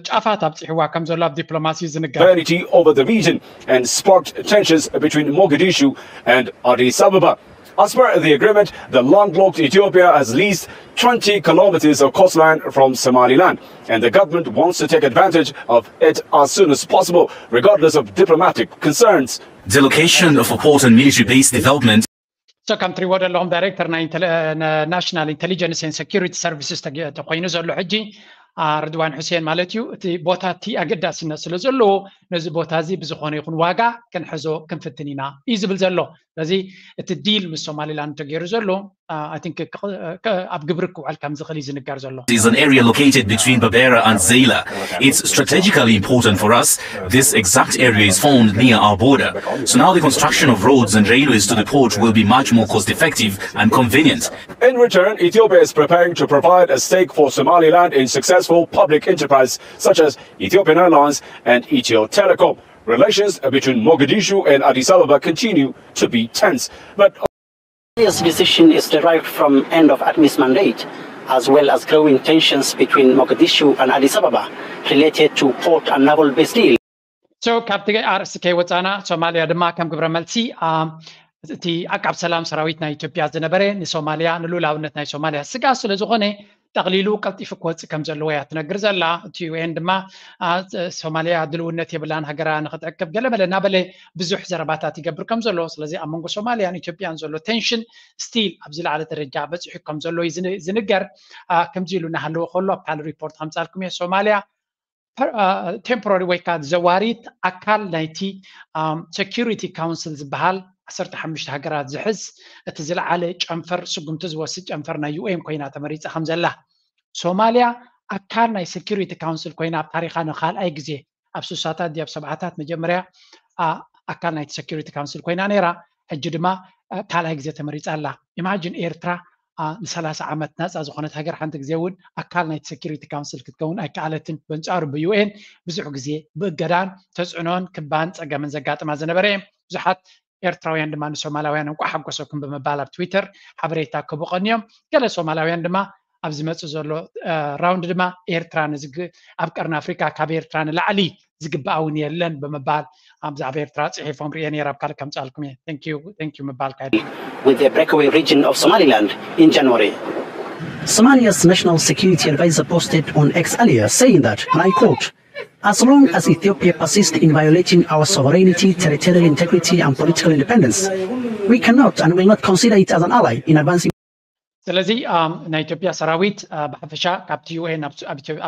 ጫፋት ኣብፂሕዋ ከም ዘሎ ኣብ ዲፕሎማሲ ዝንገር over the region and sparked tensions between Mogadishu and Addis Ababa. As per the agreement, the landlocked Ethiopia has leased twenty kilometers of coastline from Somaliland, and the government wants to take advantage of it as soon as possible, regardless of diplomatic concerns. The location of a port and military base development so ከም ትሪዎ ዘለኹም ዳይሬክተር ናይ ናሽናል ኢንቴሊጀንስ ን ሴኪሪቲ ሰርቪስስ ተኮይኑ ዘሎ ሕጂ ርድዋን ሑሴን ማለት እዩ። እቲ ቦታ እቲ ኣገዳስነት ስለ ዘለዎ ነዚ ቦታ እዚ ብዝኾነ ይኹን ዋጋ ክንሕዞ ክንፍትን ኢና እዩ ዝብል ዘሎ። ስለዚ እቲ ዲል ምስ ሶማሊላንድ ተገይሩ ዘሎ ኣብ ግብሪ ክውዕል ከም ዝኽእል እዩ ዝንገር ዘሎ። Is an area located between Berbera and Zeila. It's strategically important for us. This exact area is found near our border. So now the construction of roads and railways to the port will be much more cost effective and convenient. In return, Ethiopia is preparing to provide a stake for Somaliland in successful public enterprise such as Ethiopian Airlines and Ethio Telecom. Relations between Mogadishu and Addis Ababa continue to be tense, but This decision is derived from end of ATMIS mandate, as well as growing tensions between Mogadishu and Addis Ababa related to port and naval base deal. So ካብቲ ኣርእስቲ ከይወፃና ሶማልያ ድማ ከም ግብረ መልሲ እቲ ዓቃብ ሰላም ሰራዊት ናይ ኢትዮጵያ ዝነበረ ንሶማልያ ንሉላውነት ናይ ሶማልያ ስጋ ስለ ዝኾነ ጠቕሊሉ ቀልጢፉ ክወፅእ ከም ዘለዎ እያ ትነግር ዘላ። እቲ ዩኤን ድማ ሶማልያ ድልውነት የብላን ሃገራ ንክትዕቅብ ገለመለ እናበለ ብዙሕ ዘረባታት ይገብር ከም ዘሎ። ስለዚ ኣብ መንጎ ሶማልያን ኢትዮጵያን ዘሎ ቴንሽን ስቲል ኣብ ዝለዓለ ደረጃ በፂሑ ከም ዘሎ እዩ ዝንገር። ከምዚ ኢሉ እናሃለወ ከሎ ኣብ ካልእ ሪፖርት ከምፃልኩም እየ። ሶማልያ ቴምፖራሪ ወይ ከዓ ዘዋሪት ኣካል ናይቲ ሴኪሪቲ ካውንስል ዝበሃል ዓሰርተ ሓሙሽተ ሃገራት ዝሕዝ እቲ ዝለዓለ ጨንፈር ስጉምቲ ዝወስድ ጨንፈር ናይ ዩኤን ኮይና ተመሪፃ ከም ዘላ። ሶማልያ ኣካል ናይ ሴኪሪቲ ካውንስል ኮይና ኣብ ታሪኻ ንካልኣይ ግዜ ኣብ ስሳታት ድያብ ሰብዓታት መጀመርያ ኣካል ናይቲ ሴኪሪቲ ካውንስል ኮይና ነይራ። ሕጂ ድማ ካልኣይ ግዜ ተመሪፃ ኣላ። ኢማጂን ኤርትራ ንሰላሳ ዓመት ናፃ ዝኾነት ሃገር ሓንቲ ግዜ እውን ኣካል ናይቲ ሴኪሪቲ ካውንስል ክትከውን ኣይከኣለትን። በንፃሩ ብዩኤን ብዙሕ ግዜ ብእገዳን ተፅዕኖን ክባን ፀገምን ዘጋጥማ ዝነበረ እየ። ብዙሓት ኤርትራውያን ድማ ንሶማላውያን እንቋዕ ሓጎሰኩም ብምባል ኣብ ትዊተር ሓበሬታ ክህቡ ቀንዮም። ገለ ሶማላውያን ድማ ኣብ ዝመፅእ ዘሎ ራውንድ ድማ ኤርትራ ኣብ ቀርኒ ኣፍሪካ ካብ ኤርትራ ንላዕሊ ዝግባእ እውን የለን ብምባል ኣብ ዛዕባ ኤርትራ ፅሒፎም ርየ ነይረ። ኣብ ካልእ ከምፃልኩም እየ። Thank you ምባል ካይ With the breakaway region of Somaliland in January. Somalia's national security advisor posted on X earlier saying that, and I quote, as long as Ethiopia persists in violating our sovereignty, territorial integrity, and political independence, we cannot and will not consider it as an ally in advancing. ስለዚ ናይ ኢትዮጵያ ሰራዊት ብሓፈሻ ካብቲ ዩኤን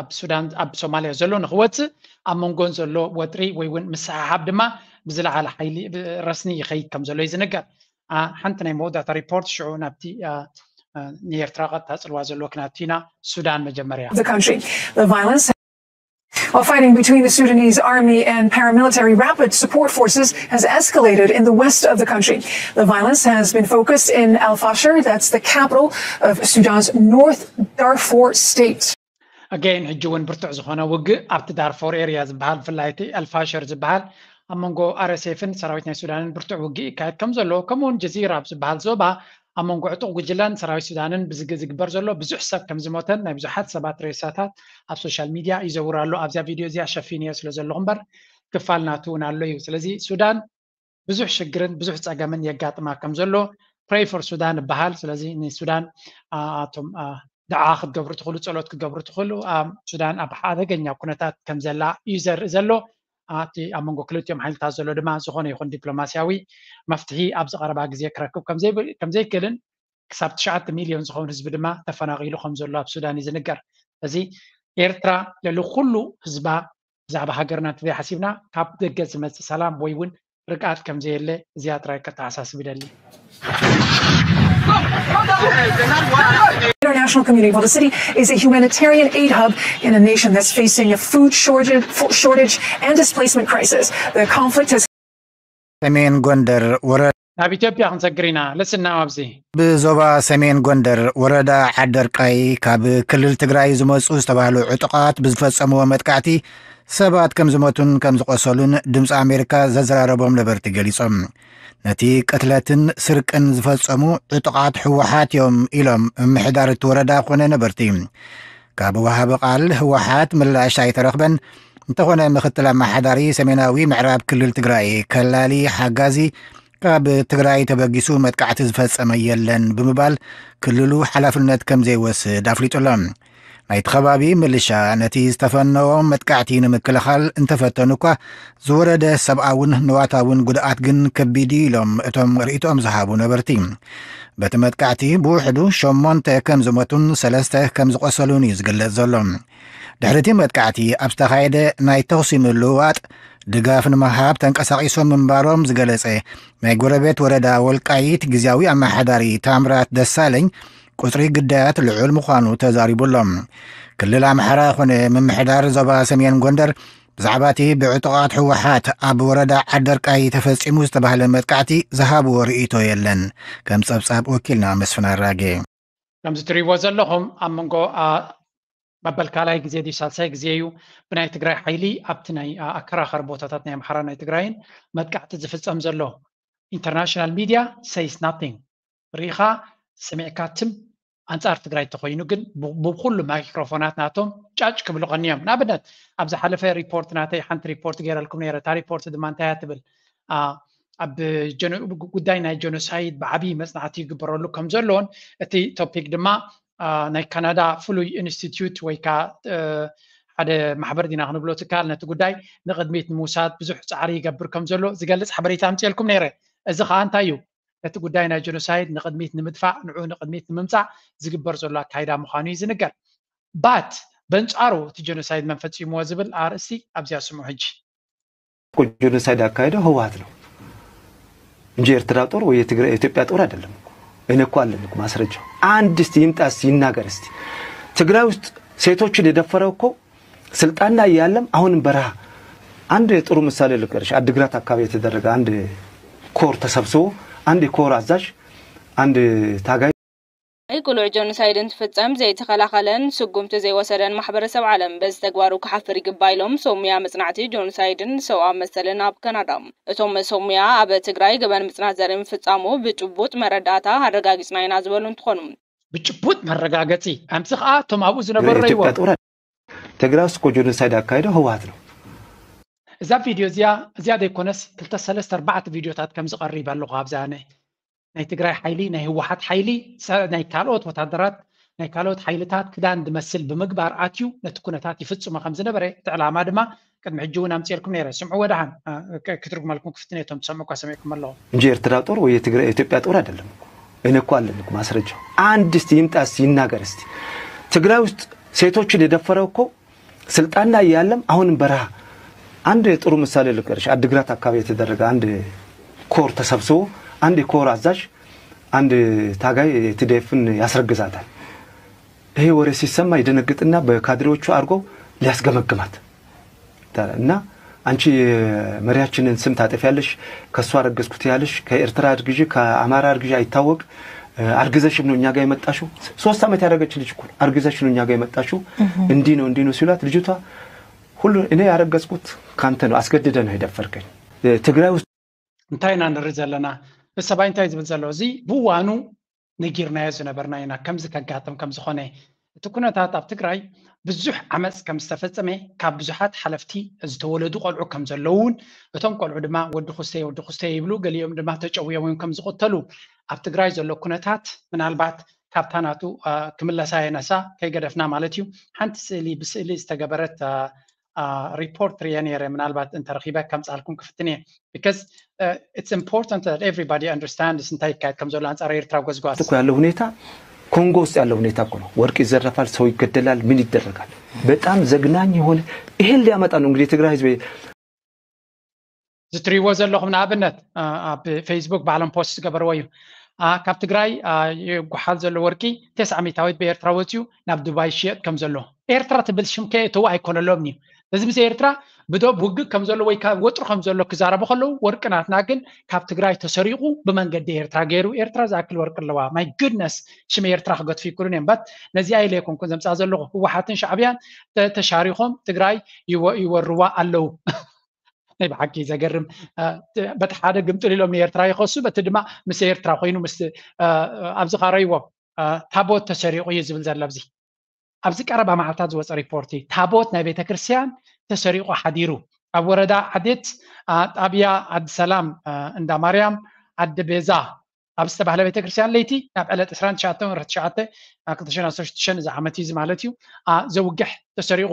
ኣብ ሱዳን ኣብ ሶማልያ ዘሎ ንክወፅእ ኣብ መንጎን ዘሎ ወጥሪ ወይ እውን ምስሓሓብ ድማ ብዝለዓለ ሓይሊ ረስኒ ይኸይድ ከም ዘሎ እዩ ዝንገር። ሓንቲ ናይ መወዳእታ ሪፖርት ሽዑ ናብቲ ንኤርትራ ቀጥታ ፅልዋ ዘለዎ ክናብቲ ኢና። ሱዳን መጀመርያ The country. The violence While fighting between the Sudanese army and paramilitary rapid support forces has escalated in the west of the country. The violence has been focused in Al Fasher, that's the capital of Sudan's North Darfur state. ኣገይን ሕጂ እውን ብርቱዕ ዝኾነ ውግእ ኣብቲ ዳርፎር ኤርያ ዝበሃል ብፍላይ እቲ ኣልፋሸር ዝበሃል ኣብ መንጎ ኣርኤስኤፍን ሰራዊት ናይ ሱዳንን ብርቱዕ ውግእ ይካየድ ከም ዘሎ ከምኡውን ጀዚራ ኣብ ዝበሃል ዞባ ኣብ መንጎ ዕጡቕ ጉጅለን ሰራዊት ሱዳንን ብዝግ ዝግበር ዘሎ ብዙሕ ሰብ ከም ዝሞተን ናይ ብዙሓት ሰባት ሬሳታት ኣብ ሶሻል ሚድያ ይዘውር ኣሎ። ኣብዚኣ ቪድዮ እዚኣ ሸፊንዮ ስለ ዘለኹ እምበር ክፋል ናቱ እውን ኣሎ እዩ። ስለዚ ሱዳን ብዙሕ ሽግርን ብዙሕ ፀገምን የጋጥማ ከም ዘሎ pray for Sudan ይበሃል። ስለዚ ንሱዳን ኣቶም ድዓ ክትገብሩ ትኽእሉ፣ ፀሎት ክትገብሩ ትኽእሉ። ሱዳን ኣብ ሓደገኛ ኩነታት ከም ዘላ እዩ ዘርኢ ዘሎ። እቲ ኣብ መንጎ ክልቲኦም ሓይልታት ዘሎ ድማ ዝኾነ ይኹን ዲፕሎማስያዊ መፍትሒ ኣብዚ ቀረባ ግዜ ክረክብ ከም ዘይክእልን ክሳብ ትሽዓተ ሚልዮን ዝኸውን ህዝቢ ድማ ተፈናቒሉ ከም ዘሎ ኣብ ሱዳን እዩ ዝንገር። እዚ ኤርትራ ልዕሊ ኩሉ ህዝባ ብዛዕባ ሃገርና እንተዘይሓሲብና ካብ ደገ ዝመፅእ ሰላም ወይ እውን ርግኣት ከም ዘየለ እዚኣ ጥራይ ከተሓሳስብ ይደሊ። International community. Well, the city is a humanitarian aid hub in a nation that's facing a food shortage, shortage and displacement crisis. The conflict has ሰሜን ጎንደር ወረ ናብ ኢትዮጵያ ክንሰግር ኢና። ልስና ኣብዚ ብዞባ ሰሜን ጎንደር ወረዳ ዓደርቃይ ካብ ክልል ትግራይ ዝመፁ ዝተባህሉ ዕጡቓት ብዝፈፀምዎ መጥቃዕቲ ሰባት ከም ዝሞቱን ከም ዝቆሰሉን ድምፂ ኣሜሪካ ዘዘራረቦም ነበርቲ ገሊፆም። ነቲ ቅትለትን ስርቅን ዝፈፀሙ ዕጡቓት ህወሓት እዮም ኢሎም ምምሕዳር እቲ ወረዳ ኮነ ነበርቲ። ካብ ወሃቢ ቃል ህወሓት ምላሽ ኣይተረኽበን። እንተኾነ ምክትል ኣመሓዳሪ ሰሜናዊ ምዕራብ ክልል ትግራይ ከላሊ ሓጋዚ ካብ ትግራይ ተበጊሱ መጥቃዕቲ ዝፈፀመ የለን ብምባል ክልሉ ሓላፍነት ከም ዘይወስድ ኣፍሊጡ ኣሎ። ናይቲ ከባቢ ምልሻ ነቲ ዝተፈነዎ መጥቃዕቲ ንምክልኻል እንተፈተኑ እኳ ዝወረደ ሰብኣውን ንዋታውን ጉድኣት ግን ከቢድ እዩ ኢሎም እቶም ርእይቶኦም ዝሃቡ ነበርቲ። በቲ መጥቃዕቲ ብውሕዱ ሸሞንተ ከም ዝሞቱን ሰለስተ ከም ዝቆሰሉን እዩ ዝግለጽ ዘሎ። ድሕሪ እቲ መጥቃዕቲ ኣብ ዝተኻየደ ናይ ተኹሲ ምልውዋጥ ድጋፍ ንምሃብ ተንቀሳቒሶም ምንባሮም ዝገለጸ ናይ ጎረቤት ወረዳ ወልቃይት ግዝያዊ ኣመሓዳሪ ታምራት ደሳለኝ፣ ቁጽሪ ግዳያት ልዑል ምዃኑ ተዛሪቡ ኣሎ። ክልል ኣምሓራ ኮነ ምምሕዳር ዞባ ሰሜን ጎንደር ብዛዕባ እቲ ብዕጡቓት ህወሓት ኣብ ወረዳ ዓደርቃይ ተፈጺሙ ዝተባህለ መጥቃዕቲ ዝሃብዎ ርእይቶ የለን። ከም ጸብጻብ ወኪልና መስፍን ኣራጌ። ከምዚ ትሪእዎ ዘለኹም ኣብ መንጎ መበል ካልኣይ ግዜ ድዩ ሳልሳይ ግዜ እዩ ብናይ ትግራይ ሓይሊ ኣብቲ ናይ ኣከራኸሪ ቦታታት ናይ ኣምሓራ ናይ ትግራይን መጥቃዕቲ ዝፍጸም ዘሎ። ኢንተርናሽናል ሚድያ ሰይስ ናቲንግ። ርኢኻ ሰሚዕካ ትም ኣንጻር ትግራይ እንተኾይኑ ግን ብኩሉ ማይክሮፎናት ናቶም ጫጭ ክብሉ ቀንዮም። ንኣብነት ኣብ ዝሓለፈ ሪፖርት ናተይ ሓንቲ ሪፖርት ገይረልኩም ነይረ። እታ ሪፖርት ድማ እንታይ እያ ትብል? ኣብ ጉዳይ ናይ ጀኖሳይድ ብዓብዪ መፅናዕቲ ይግበረሉ ከም ዘሎን እቲ ቶፒክ ድማ ናይ ካናዳ ፍሉይ ኢንስቲትዩት ወይ ከዓ ሓደ ማሕበር ዲና ክንብሎ ትካል ነቲ ጉዳይ ንቕድሚት ንምውሳድ ብዙሕ ፃዕሪ ይገብር ከም ዘሎ ዝገልፅ ሓበሬታ ኣምፅኤልኩም ነይረ። እዚ ከዓ እንታይ እዩ? ነቲ ጉዳይ ናይ ጀኖሳይድ ንቕድሚት ንምድፋእ ንዑ ንቕድሚት ንምምፃእ ዝግበር ዘሎ ኣካይዳ ምዃኑ እዩ ዝንገር። ባት በንፃሩ እቲ ጀኖሳይድ መን ፈፂምዎ ዝብል ኣርእስቲ ኣብዚኣ ስምዑ ሕጂ። ጀኖሳይድ ያካሄደው ህወሓት ነው እንጂ ኤርትራ ጦር ወይ የኢትዮጵያ ጦር አይደለም። እኔ እኮ አለኝ እኮ ማስረጃው። አንድ እስቲ ይምጣ እስቲ ይናገር እስቲ። ትግራይ ውስጥ ሴቶችን የደፈረው እኮ ስልጣን ላይ ያለም አሁንም በረሃ። አንድ ጥሩ ምሳሌ ልንገርሽ። አድግራት አካባቢ የተደረገ አንድ ኮር ተሰብስቦ አንድ የኮር አዛዥ አንድ ታጋይ ቅሉዕ ጆኖሳይድ እንትፍጸም ዘይተኸላኸለን ስጉምቲ ዘይወሰደን ማሕበረሰብ ዓለም በዚ ተግባሩ ክሓፍር ይግባእ ኢሎም ሶምያ መጽናዕቲ ጆኖሳይድን ሰብኣዊ መሰልን ኣብ ካናዳ። እቶም ሶምያ ኣብ ትግራይ ገበን ምጽናት ዘርኢ ምፍጻሙ ብጭቡጥ መረዳእታ ኣረጋጊጽና ኢና ዝበሉ እንትኾኑ ብጭቡጥ መረጋገጺ ኣምሲ ከዓ እቶም ኣብኡ ዝነበሩ ረይዎም ትግራይ ውስጥ እኮ ጆኖሳይድ ያካሄደው ህወሓት ነው። እዛ ቪድዮ እዚኣ እዚኣ ዘይኮነስ ክልተ ሰለስተ ኣርባዕተ ቪድዮታት ከም ዝቐርብ ኣለኹ ኣብዛ ናይ ትግራይ ሓይሊ ናይ ህወሓት ሓይሊ ናይ ካልኦት ወታደራት ናይ ካልኦት ሓይልታት ክዳን ዝመስል ብምግባር ኣትዩ ነቲ ኩነታት ይፍፅሞ ከም ዝነበረ እቲ ዕላማ ድማ ቅድሚ ሕጂ እውን ኣምፅኤልኩም ነይረ ስምዑ ወደሓን ክትርጉመልኩም ክፍትን እየ እቶም ትሰምዑ እኳ ሰሚዕኩም ኣለኹ እንጂ ኤርትራ ጦር ወይ የኢትዮጵያ ጦር አይደለም እኮ። እኔ እኮ አለኝ እኮ ማስረጃው። አንድ እስቲ ይምጣ እስቲ ይናገር እስቲ። ትግራይ ውስጥ ሴቶችን የደፈረው እኮ ስልጣን ላይ ያለም አሁንም በረሃ። አንድ ጥሩ ምሳሌ ልንገርሽ። አድግራት አካባቢ የተደረገ አንድ ኮር ተሰብስቦ አንድ የኮር አዛዥ አንድ ታጋይ የቲዲኤፍን ያስረግዛታል። ይሄ ወሬ ሲሰማ ይደነግጥና በካድሬዎቹ አድርጎ ሊያስገመግማት እና አንቺ የመሪያችንን ስም ታጠፊያለሽ፣ ከእሱ አረገዝኩ ትያለሽ፣ ከኤርትራ አርግዢ ከአማራ አርግዢ አይታወቅ፣ አርግዘሽም ነው እኛ ጋር የመጣሽው። ሶስት ዓመት ያደረገች ልጅ እኮ አርግዘሽ ነው እኛ ጋር የመጣሽው፣ እንዲህ ነው እንዲህ ነው ሲሏት ልጅቷ ሁሉ እኔ ያረገዝኩት ካንተ ነው፣ አስገድደ ነው የደፈርከኝ። ትግራይ ውስጥ እንታይ ኢና ንርኢ ዘለና? ሰብኣይ እንታይ ዝብል ዘሎ? እዚ ብእዋኑ ነጊርናዮ ዝነበርና ኢና ከምዚ ከጋጥም ከም ዝኾነ። እቲ ኩነታት ኣብ ትግራይ ብዙሕ ዓመፅ ከም ዝተፈፀመ ካብ ብዙሓት ሓለፍቲ ዝተወለዱ ቆልዑ ከም ዘለውን እቶም ቆልዑ ድማ ወዲ ኩስተ ወዲ ኩስተ ይብሉ፣ ገሊኦም ድማ ተጨውዮም እዮም ከም ዝቕተሉ ኣብ ትግራይ ዘሎ ኩነታት ምናልባት ካብታ ናቱ ክምለሳ የነሳ ከይገደፍና ማለት እዩ። ሓንቲ ስእሊ ብስእሊ ዝተገበረት ሪፖርት ርየ ነይረ ምናልባት እንተረኺበ ከምፃልኩም ክፍትን እየ because it's important that everybody understands እንታይ ይካየድ ከም ዘሎ ኣንፃር ኤርትራ ጎዝጓዝ እኮ ያለው ሁኔታ ኮንጎ ውስጥ ያለው ሁኔታ እኮ ነው። ወርቅ ይዘረፋል፣ ሰው ይገደላል፣ ምን ይደረጋል። በጣም ዘግናኝ የሆነ ይሄን ሊያመጣ ነው እንግዲህ የትግራይ ህዝብ ዝትሪእዎ ዘለኹም ንኣብነት ኣብ ፌስቡክ ባዕሎም ፖስት ዝገበርዎ እዩ። ካብ ትግራይ ይጓሓል ዘሎ ወርቂ ተስዓ ሚታዊት ብኤርትራ ወፂኡ ናብ ዱባይ ይሽየጥ ከም ዘሎ ኤርትራ ትብል ሽም ከየእተው ኣይኮነሎም እዩ። እዚ ምስ ኤርትራ ብዶብ ውግእ ከም ዘሎ ወይ ወጥሩ ከም ዘሎ ክዛረቡ ከለዉ ወርቂ ናትና ግን ካብ ትግራይ ተሰሪቑ ብመንገዲ ኤርትራ ገይሩ ኤርትራ ዝኣክል ወርቂ ኣለዋ። My goodness ሽም ኤርትራ ክገድፉ ይክእሉን እዮም። በት ነዚኣ ኢለ ኣይኮንኩን ዘምፃ ዘለኹ ህወሓትን ሻዕብያን ተሻሪኾም ትግራይ ይወርዋ ኣለዉ። ናይ ብሓቂ ዘገርም በቲ ሓደ ግምጥል ኢሎም ንኤርትራ ይኸሱ በቲ ድማ ምስ ኤርትራ ኮይኑ ምስ ኣብዚ ካረይዎ ታቦት ተሰሪቑ እዩ ዝብል ዘሎ ኣብዚ ኣብዚ ቀረባ መዓልታት ዝወፀ ሪፖርት እዩ። ታቦት ናይ ቤተክርስትያን ተሰሪቑ ሓዲሩ ኣብ ወረዳ ዓዴት ጣብያ ዓዲ ሰላም እንዳ ማርያም ዓዲ ቤዛ ኣብ ዝተባህለ ቤተክርስትያን ለይቲ ናብ ዕለት ዕስራን ትሽዓተን ወርሒ ትሽዓተ ክልተ ሽሕን ዓሰርተ ሽዱሽተን እዚ ዓመት እዩ ማለት እዩ ዘውግሕ ተሰሪቑ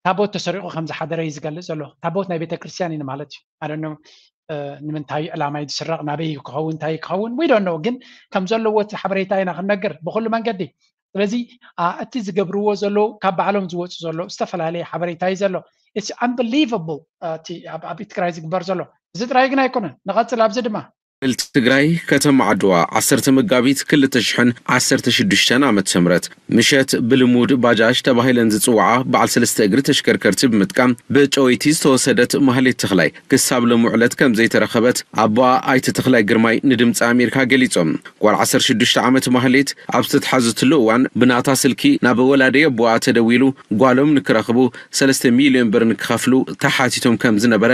ታቦት ተሰሪቑ ከም ዝሓደረ እዩ ዝገልፅ ዘሎ። ታቦት ናይ ቤተክርስትያን እዩ ማለት እዩ። ኣደኖ ንምንታይ ዕላማ እዩ ዝስረቕ ናበይ ክኸውን እንታይ ክኸውን ወይ ዶኖ ግን ከም ዘለዎ እቲ ሓበሬታ ኢና ክንነግር ብኩሉ መንገዲ ስለዚ እቲ ዝገብርዎ ዘለዉ ካብ ባዕሎም ዝወፁ ዘለዉ ዝተፈላለየ ሓበሬታ እዩ ዘሎ። It's unbelievable እቲ ኣብ ትግራይ ዝግበር ዘሎ። እዚ ጥራይ ግን ኣይኮነን። ንቐፅል ኣብዚ ድማ ክልል ትግራይ ከተማ ዓድዋ ዓሰርተ መጋቢት ክልተ ሽሕን ዓሰርተ ሽዱሽተን ዓመተ ምህረት ምሸት ብልሙድ ባጃጅ ተባሂለን ዝፅውዓ በዓል ሰለስተ እግሪ ተሽከርከርቲ ብምጥቃም ብጨወይቲ ዝተወሰደት ማህሌት ተኽላይ ክሳብ ሎሚ ዕለት ከም ዘይተረኸበት ኣቦኣ ኣይተ ተኽላይ ግርማይ ንድምፂ ኣሜሪካ ገሊፆም። ጓል ዓሰርተ ሽዱሽተ ዓመት ማህሌት ኣብ ዝተትሓዘትሉ እዋን ብናታ ስልኪ ናብ ወላዲ ኣቦኣ ተደዊሉ ጓሎም ንክረኽቡ ሰለስተ ሚልዮን ብር ንክኸፍሉ ተሓቲቶም ከም ዝነበረ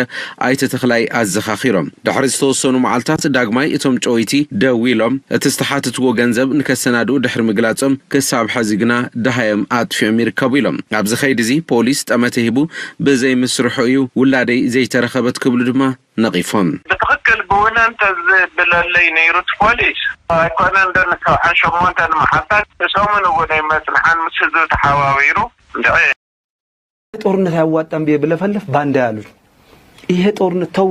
ኣይተ ተኽላይ ኣዘኻኺሮም። ድሕሪ ዝተወሰኑ መዓልታት ዳግማይ እቶም ጨወይቲ ደዊሎም እቲ ዝተሓተትዎ ገንዘብ ንከሰናድኡ ድሕሪ ምግላጾም ክሳብ ሐዚ ግና ደሃዮም ኣጥፊኦም ይርከቡ ኢሎም። ኣብዚ ኸይዲ እዚ ፖሊስ ጠመተ ሂቡ ብዘይምስርሑ እዩ ውላደይ ዘይተረኸበት ክብሉ ድማ ነቒፎም። ብትኽክል ብውነ እንተዝብለለይ ነይሩ እቲ ፖሊስ ኣይኮነን ዶ ንሰብዓን ሸሞንተን መዓልታት ንሰሙን እውን ኣይመጽንሓን ምስ ህዝቢ ተሓባቢሩ እንድዒ ጦርነት አያዋጣም ብዬ ብለፈልፍ ባንዳ ያሉኝ። ይሄ ጦርነት ተው፣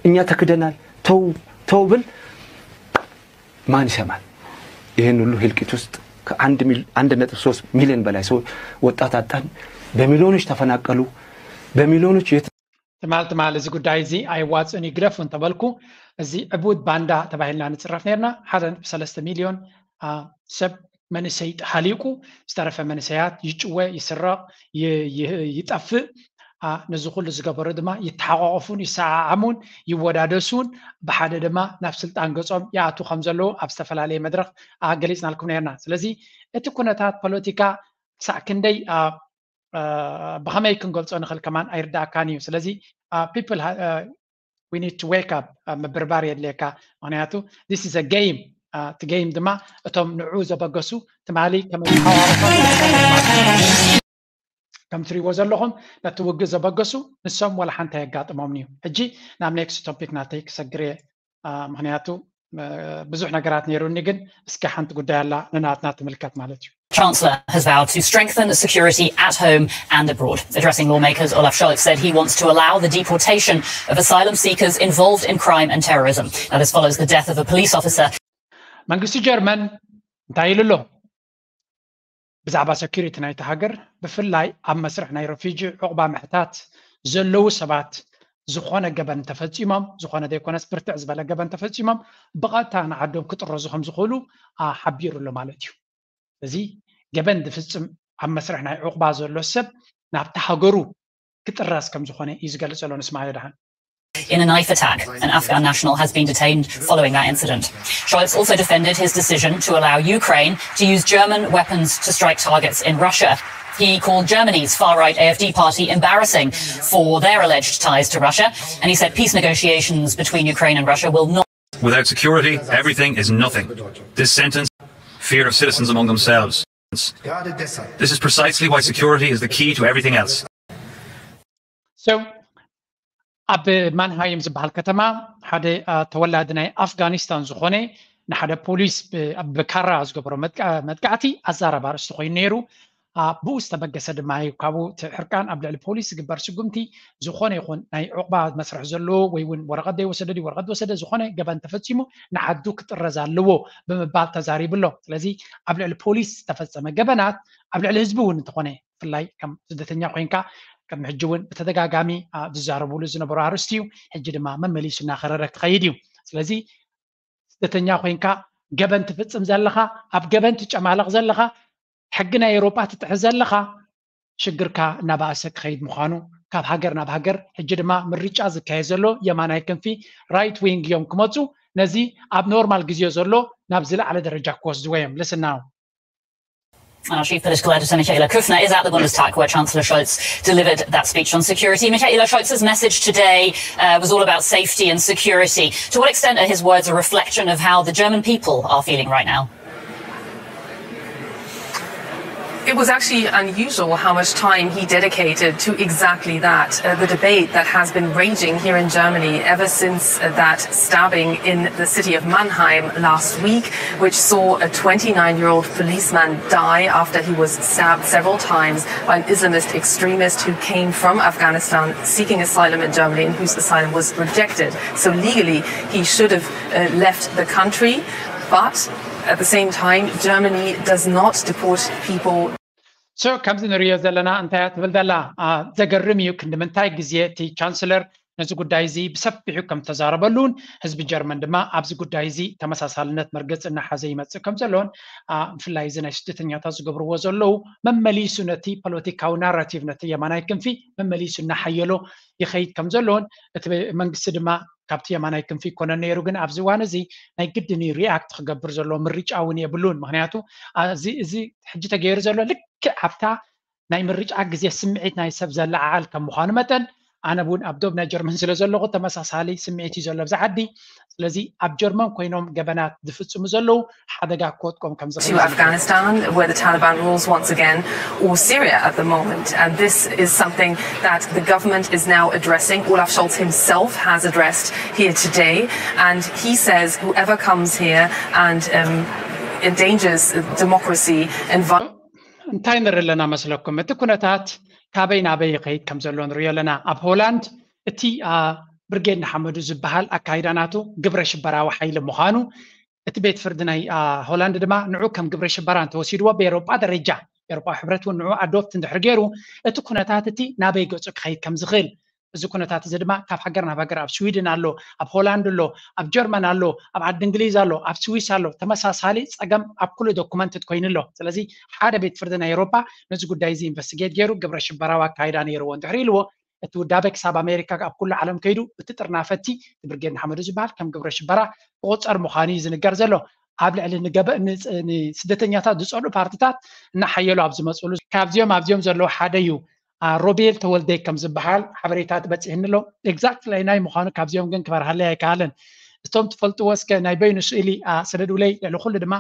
እኛ ተክደናል፣ ተው ተው ብል ማን ይሰማል? ይህን ሁሉ ህልቂት ውስጥ ከአንድ ሚል- አንድ ነጥብ ሶስት ሚሊዮን በላይ ሰው ወጣት አጣን። በሚሊዮኖች ተፈናቀሉ። በሚሊዮኖች የት- ትማል ትማል እዚ ጉዳይ እዚ ኣይዋፅእን ይግደፉ እንተበልኩ፣ እዚ ዕቡድ ባንዳ ተባሂልና ንፅረፍ ነርና። ሓደ ነጥቢ ሰለስተ ሚልዮን ሰብ መንእሰይ ሃሊቁ፣ ዝተረፈ መንእሰያት ይጭወ፣ ይስረቕ፣ ይጠፍእ። ነዚ ኩሉ ዝገበሩ ድማ ይተሓቋቆፉን ይሰዓዓሙን ይወዳደሱን፣ ብሓደ ድማ ናብ ስልጣን ገጾም ይኣቱ ከም ዘለዉ ኣብ ዝተፈላለየ መድረኽ ገሊፅናልኩም ነርና። ስለዚ እቲ ኩነታት ፖለቲካ ክሳዕ ክንደይ ብኸመይ ክንገልፆ ንኽእል ከማን ኣይርዳእካን እዩ። ስለዚ people we need to wake up፣ ምብርባር የድልየካ። ምክንያቱ this is a game። እቲ game ድማ እቶም ንዑ ዘበገሱ ትማሊ ከመይ ተሓዋወሶም ከም ትሪእዎ ዘለኹም ነቲ ውግእ ዘበገሱ ንሶም ወላ ሓንቲ ኣየጋጥሞምን እዩ። ሕጂ ናብ next topic ናተይ ክሰግር እየ። ምክንያቱ ብዙሕ ነገራት ነይሩኒ፣ ግን እስኪ ሓንቲ ጉዳይ ኣላ ንናትና ትምልከት ማለት እዩ። Chancellor has vowed to strengthen security at home and abroad. Addressing lawmakers, Olaf Scholz said he wants to allow the deportation of asylum seekers involved in crime and terrorism. Now, this follows the death of a police officer. መንግስቲ ጀርመን እንታይ ኢሉ ኣሎ? ብዛዕባ security ናይቲ ሃገር፣ ብፍላይ ኣብ መስርሕ ናይ ረፊጂ ዕቑባ ምሕታት ዘለዉ ሰባት ዝኾነ ገበን እንተፈፂሞም፣ ዝኾነ ዘይኮነስ ብርትዕ ዝበለ ገበን እንተፈፂሞም፣ ብቐጥታ ንዓዶም ክጥረዙ ከም ዝኽእሉ ሓቢሩ ኣሎ ማለት እዩ። እዚ ገበን ዝፍፅም ኣብ መስርሕ ናይ ዕቑባ ዘሎ ሰብ ናብቲ ሃገሩ ክጥረዝ ከም ዝኾነ እዩ ዝገልፅ ዘሎ። ንስማዮ ደሓን። In a knife attack, an Afghan national has been detained following that incident. Scholz also defended his decision to allow Ukraine to use German weapons to strike targets in Russia. He called Germany's far right AfD party embarrassing for their alleged ties to Russia, and he said peace negotiations between Ukraine and Russia will not. Without security, everything is nothing. This sentence, fear of citizens among themselves. This is precisely why security is the key to everything else. So ኣብ ማንሃይም ዝበሃል ከተማ ሓደ ተወላዲ ናይ ኣፍጋኒስታን ዝኾነ ንሓደ ፖሊስ ብካራ ዝገበሮ መጥቃዕቲ ኣዛራቢ ኣርእስቲ ኮይኑ ነይሩ። ብኡ ዝተበገሰ ድማ እዩ ካብኡ እቲ ሕርቃን ኣብ ልዕሊ ፖሊስ ዝግበር ስጉምቲ ዝኾነ ይኹን ናይ ዕቑባ መስርሕ ዘለዎ ወይ እውን ወረቐት ዘይወሰደ ድዩ ወረቐት ወሰደ ዝኾነ ገበን ተፈፂሙ ንዓዱ ክጥረዝ ኣለዎ ብምባል ተዛሪቡ ኣሎ። ስለዚ ኣብ ልዕሊ ፖሊስ ዝተፈፀመ ገበናት ኣብ ልዕሊ ህዝቢ እውን እንተኾነ ብፍላይ ከም ስደተኛ ኮይንካ ቅድሚ ሕጂ እውን ብተደጋጋሚ ዝዛረብሉ ዝነበሩ ኣርእስቲ እዩ። ሕጂ ድማ መመሊሱ እናኸረረ ክኸይድ እዩ። ስለዚ ስደተኛ ኮይንካ ገበን ትፍፅም ዘለኻ፣ ኣብ ገበን ትጨማለቕ ዘለኻ፣ ሕጊ ናይ ኤውሮጳ ትጥሕስ ዘለኻ ሽግርካ እናባእሰ ክኸይድ ምዃኑ ካብ ሃገር ናብ ሃገር ሕጂ ድማ ምርጫ ዝካየድ ዘሎ የማናይ ክንፊ right wing እዮም ክመፁ። ነዚ ኣብ ኖርማል ግዜ ዘሎ ናብ ዝለዓለ ደረጃ ክወስድዎ እዮም። Listen now. Our chief political editor, Michaela Kufner, is at the Bundestag, where Chancellor Scholz delivered that speech on security. Michaela, Scholz's message today uh, was all about safety and security. To what extent are his words a reflection of how the German people are feeling right now? It was actually unusual how much time he dedicated to exactly that, uh, the debate that has been raging here in Germany ever since, uh, that stabbing in the city of Mannheim last week, which saw a twenty-nine-year-old policeman die after he was stabbed several times by an Islamist extremist who came from Afghanistan seeking asylum in Germany and whose asylum was rejected. So legally, he should have, uh, left the country, but At the same time, Germany does not deport people. So ከምዚ ንሪኦ ዘለና እንታይ እያ ትብል ዘላ? ዘገርም እዩ ክንዲ ምንታይ ግዜ እቲ ቻንስለር ነዚ ጉዳይ እዚ ብሰፊሑ ከም ተዛረበሉን ህዝቢ ጀርመን ድማ ኣብዚ ጉዳይ እዚ ተመሳሳልነት መርገፂ እናሓዘ ይመፅእ ከም ዘሎን ብፍላይ እዚ ናይ ስደተኛታት ዝገብርዎ ዘለዉ መመሊሱ ነቲ ፖለቲካዊ ናራቲቭ ነቲ የማናይ ክንፊ መመሊሱ እናሓየሎ ይኸይድ ከም ዘሎን እቲ መንግስቲ ድማ ካብቲ የማናይ ክንፊ ይኮነ ነይሩ ግን ኣብዚ እዋን እዚ ናይ ግድን ሪኣክት ክገብር ዘሎ ምርጫ እውን የብሉን ምክንያቱ እዚ ሕጂ ተገይሩ ዘሎ ልክዕ ኣብታ ናይ ምርጫ ግዜ ስምዒት ናይ ሰብ ዘለዓዓል ከም ምዃኑ መጠን ኣነ እውን ኣብ ዶብ ናይ ጀርመን ስለ ዘለኹ ተመሳሳሊ ስምዒት እዩ ዘሎ ኣብዚ ዓዲ ስለዚ ኣብ ጀርመን ኮይኖም ገበናት ዝፍፅሙ ዘለዉ ሓደጋ ክወጥቆም ከም to Afghanistan, where the Taliban rules once again, or Syria at the moment. And this is something that the government is now addressing. Olaf Scholz himself has addressed here today. And he says whoever comes here and um, endangers democracy and እንታይ ንርኢ ኣለና መስለኩም? እቲ ኩነታት ካበይ ናበይ ይኸይድ ከም ዘሎ ንሪኦ ኣለና። ኣብ ሆላንድ እቲ ብርጌድ ንሓመዱ ዝበሃል ኣካይዳ ናቱ ግብረ ሽበራዊ ሓይሊ ምዃኑ እቲ ቤት ፍርዲ ናይ ሆላንድ ድማ ንዑ ከም ግብረ ሽበራ እንተወሲድዎ ብኤሮጳ ደረጃ ኤሮጳ ሕብረት እውን ንዑ ኣዶፕት እንድሕር ገይሩ እቲ ኩነታት እቲ ናበይ ገፁ ክኸይድ ከም ዝኽእል እዚ ኩነታት እዚ ድማ ካብ ሃገር ናብ ሃገር ኣብ ስዊድን ኣሎ ኣብ ሆላንድ ኣሎ ኣብ ጀርመን ኣሎ ኣብ ዓዲ እንግሊዝ ኣሎ ኣብ ስዊስ ኣሎ ተመሳሳሊ ፀገም ኣብ ኩሉ ዶኩመንትድ ኮይኑ ኣሎ ስለዚ ሓደ ቤት ፍርዲ ናይ ኤሮፓ ነዚ ጉዳይ እዚ ኢንቨስቲጌት ገይሩ ግብረ ሽበራዊ ኣካይዳ ነይርዎ እንድሕር ኢልዎ እቲ ውዳበ ክሳብ ኣሜሪካ ኣብ ኩሉ ዓለም ከይዱ እቲ ጥርናፈቲ እቲ ብርጌድ ንሓመዱ ዝበሃል ከም ግብረ ሽበራ ክቁፀር ምዃኑ እዩ ዝንገር ዘሎ ኣብ ልዕሊ ንስደተኛታት ዝፀልኡ ፓርትታት እናሓየሉ ኣብ ዝመፅሉ ካብዚኦም ኣብዚኦም ዘለዉ ሓደ እዩ ሮቤል ተወልደ ከም ዝበሃል ሓበሬታ ትበፅሕኒ ኣሎ exactly ናይ ምዃኑ ካብዚኦም ግን ክበርሃለይ ኣይከኣለን እቶም ትፈልጥዎ እስከ ናይ በይኑ ስእሊ ስደዱለይ ልዕሊ ኩሉ ድማ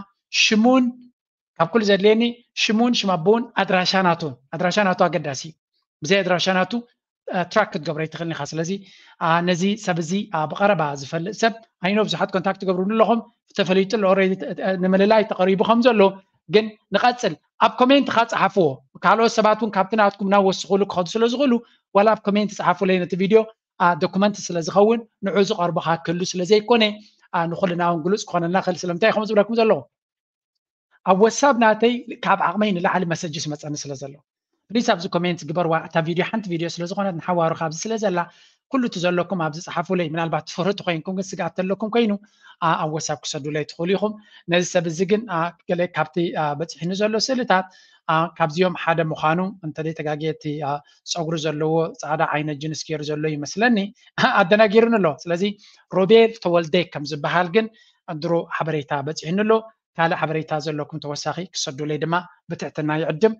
ሽሙን ካብ ኩሉ ዘድልየኒ ሽሙን ሽም ኣቦውን ኣድራሻ ናቱን ኣድራሻ ናቱ ኣገዳሲ እዩ ብዘይ ኣድራሻ ናቱ ትራክ ክትገብሮ ይትኽእል ኢኻ ስለዚ ነዚ ሰብ እዚ ብቐረባ ዝፈልጥ ሰብ ኣይኖ ብዙሓት ኮንታክት ትገብሩኒ ኣለኹም ተፈሊጡ ኣሎ ንምልላይ ተቐሪቡ ከም ዘሎ ግን ንቐፅል ኣብ ኮሜንት ካ ፀሓፍዎ ካልኦት ሰባት እውን ካብቲ ናትኩም ናብ ወስኽሉ ክኸዱ ስለ ዝኽእሉ ዋላ ኣብ ኮሜንት ፀሓፉለይ ነቲ ቪድዮ ዶኩመንት ስለ ዝኸውን ንዑ ዝቐርቦ ካ ክህሉ ስለ ዘይኮነ ንኩልና እውን ግሉፅ ክኾነልና ክእል ስለምንታይ ኢኹም ዝብለኩም ዘለኹ ኣብ ወሳብ ናተይ ካብ ዓቕመይ ንላዕሊ መሰጅስ መፀኒ ስለ ዘሎ ፕሊስ ኣብዚ ኮሜንት ግበርዋ እታ ቪድዮ ሓንቲ ቪድዮ ስለ ዝኾነት ንሓዋሩ ካብዚ ስለ ዘላ ኩሉ እቲ ዘለኩም ኣብዚ ፀሓፉለይ ምናልባት ትፈርቱ ኮይንኩም ግን ስግኣት ተለኩም ኮይኑ ኣብ ወሳብ ክሰዱለይ ትኽእሉ ኢኹም ነዚ ሰብ እዚ ግን ገለ ካብቲ በፂሕኒ ዘሎ ስእልታት ካብዚኦም ሓደ ምዃኑ እንተዘይ ተጋግየ እቲ ፀጉሪ ዘለዎ ፃዕዳ ዓይነት ጅንስ ገይሩ ዘሎ ይመስለኒ ኣደናጊሩኒ ኣሎ ስለዚ ሮቤል ተወልደ ከም ዝበሃል ግን ድሮ ሓበሬታ በፂሕኒ ኣሎ ካልእ ሓበሬታ ዘለኩም ተወሳኺ ክሰዱለይ ድማ ብትሕትና ይዕድም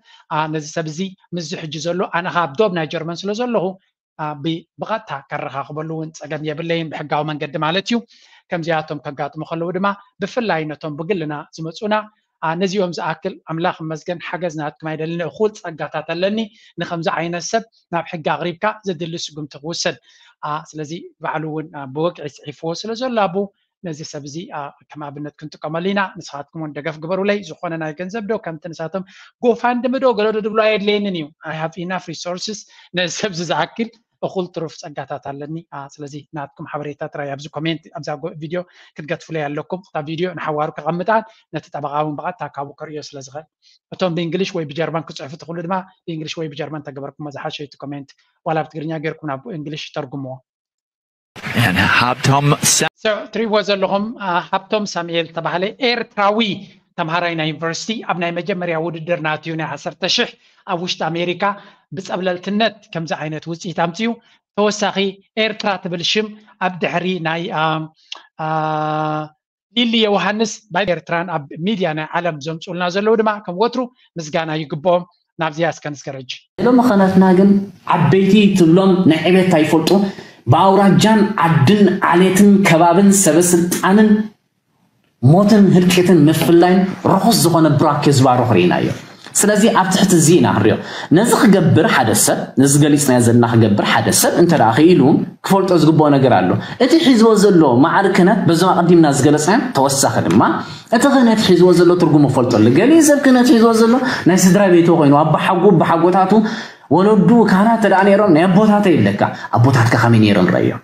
ነዚ ሰብ እዚ ምስዚ ሕጂ ዘሎ ኣነ ካብ ዶብ ናይ ጀርመን ስለ ዘለኹ ብቐጥታ ከረኻኽበሉ እውን ፀገም የብለይን ብሕጋዊ መንገዲ ማለት እዩ ከምዚኣቶም ከጋጥሙ ከለዉ ድማ ብፍላይ ነቶም ብግልና ዝመፁና ነዚኦም ዝኣክል ኣምላኽ መስገን ሓገዝ ናትኩም ኣይደልን እኹል ፀጋታት ኣለኒ ንከምዚ ዓይነት ሰብ ናብ ሕጊ ኣቕሪብካ ዘድሊ ስጉምቲ ክውሰድ ስለዚ ባዕሉ እውን ብወግዒ ፅሒፍዎ ስለ ዘሎ ኣቡ ነዚ ሰብ እዚ ከም ኣብነት ክንጥቀመሉ ኢና ንስኻትኩም እውን ደገፍ ግበሩለይ ዝኾነ ናይ ገንዘብ ዶ ከምቲ ንሳቶም ጎፋንድሚ ዶ ገለዶ ድብሎ ኣየድለየንን እዩ I have enough resources ነዚ ሰብ እዚ ዝኣክል እኹል ትሩፍ ፀጋታት ኣለኒ ስለዚ ናትኩም ሓበሬታ ጥራይ ኣብዚ ኮሜንት ኣብዛ ቪድዮ ክትገትፉለይ ኣለኩም እታ ቪድዮ ንሓዋሩ ከቐምጣን ነቲ ጠበቓ እውን ብቐጥታ ካብኡ ክርእዮ ስለ ዝኽእል እቶም ብእንግሊሽ ወይ ብጀርመን ክፅሕፉ ትኽእሉ ድማ ብእንግሊሽ ወይ ብጀርመን ተገበርኩሞ ዝሓሸ እቲ ኮሜንት ዋላ ብትግርኛ ገይርኩም ናብ እንግሊሽ ተርጉምዎ And Habtom ትሪእዎ ዘለኹም ሃብቶም ሳሙኤል ተባህለ ኤርትራዊ ተምሃራይ ናይ ዩኒቨርሲቲ ኣብ ናይ መጀመርያ ውድድር ናትዩ ናይ ዓሰርተ ሽሕ ኣብ ውሽጢ ኣሜሪካ ብፀብለልትነት ከምዚ ዓይነት ውፅኢት ኣምፅዩ ተወሳኺ ኤርትራ ትብል ሽም ኣብ ድሕሪ ናይ ሊሊ ዮሃንስ ባይ ኤርትራን ኣብ ሚድያ ናይ ዓለም ዘምፅኡልና ዘለዉ ድማ ከም ወትሩ ምስጋና ይግብኦም ናብዚኣ እስከ ንስገረጅ ሎሚ ኸነትና ግን ዓበይቲ ትብሎም ናይ ዕቤት ኣይፈልጡ ብኣውራጃን ዓድን ዓሌትን ከባብን ሰበስልጣንን ሞትን ህልቂትን ምፍላይን ርኹስ ዝኾነ ብራኬ ዝባርኹ ርኢናዮ ስለዚ ኣብ ትሕቲ እዚ ኢና ክንሪኦ ነዚ ክገብር ሓደ ሰብ ነዚ ገሊፅናዮ ዘለና ክገብር ሓደ ሰብ እንተ ደኣ ክኢሉ ክፈልጦ ዝግብኦ ነገር ኣሎ እቲ ሒዝዎ ዘሎ ማዕሪ ክህነት በዞም ኣቐዲምና ዝገለፅናዮም ተወሳኺ ድማ እቲ ክህነት ሒዝዎ ዘሎ ትርጉም ክፈልጦ ኣሎ ገሊኡ ሰብ ክህነት ሒዝዎ ዘሎ ናይ ስድራ ቤቱ ኮይኑ ኣቦሓጉ ኣቦሓጎታቱ ወለዱ ካህናት ተደኣ ነይሮም ናይ ኣቦታተይ ይብለካ ኣቦታትካ ከመይ ነይሮም ረእዮም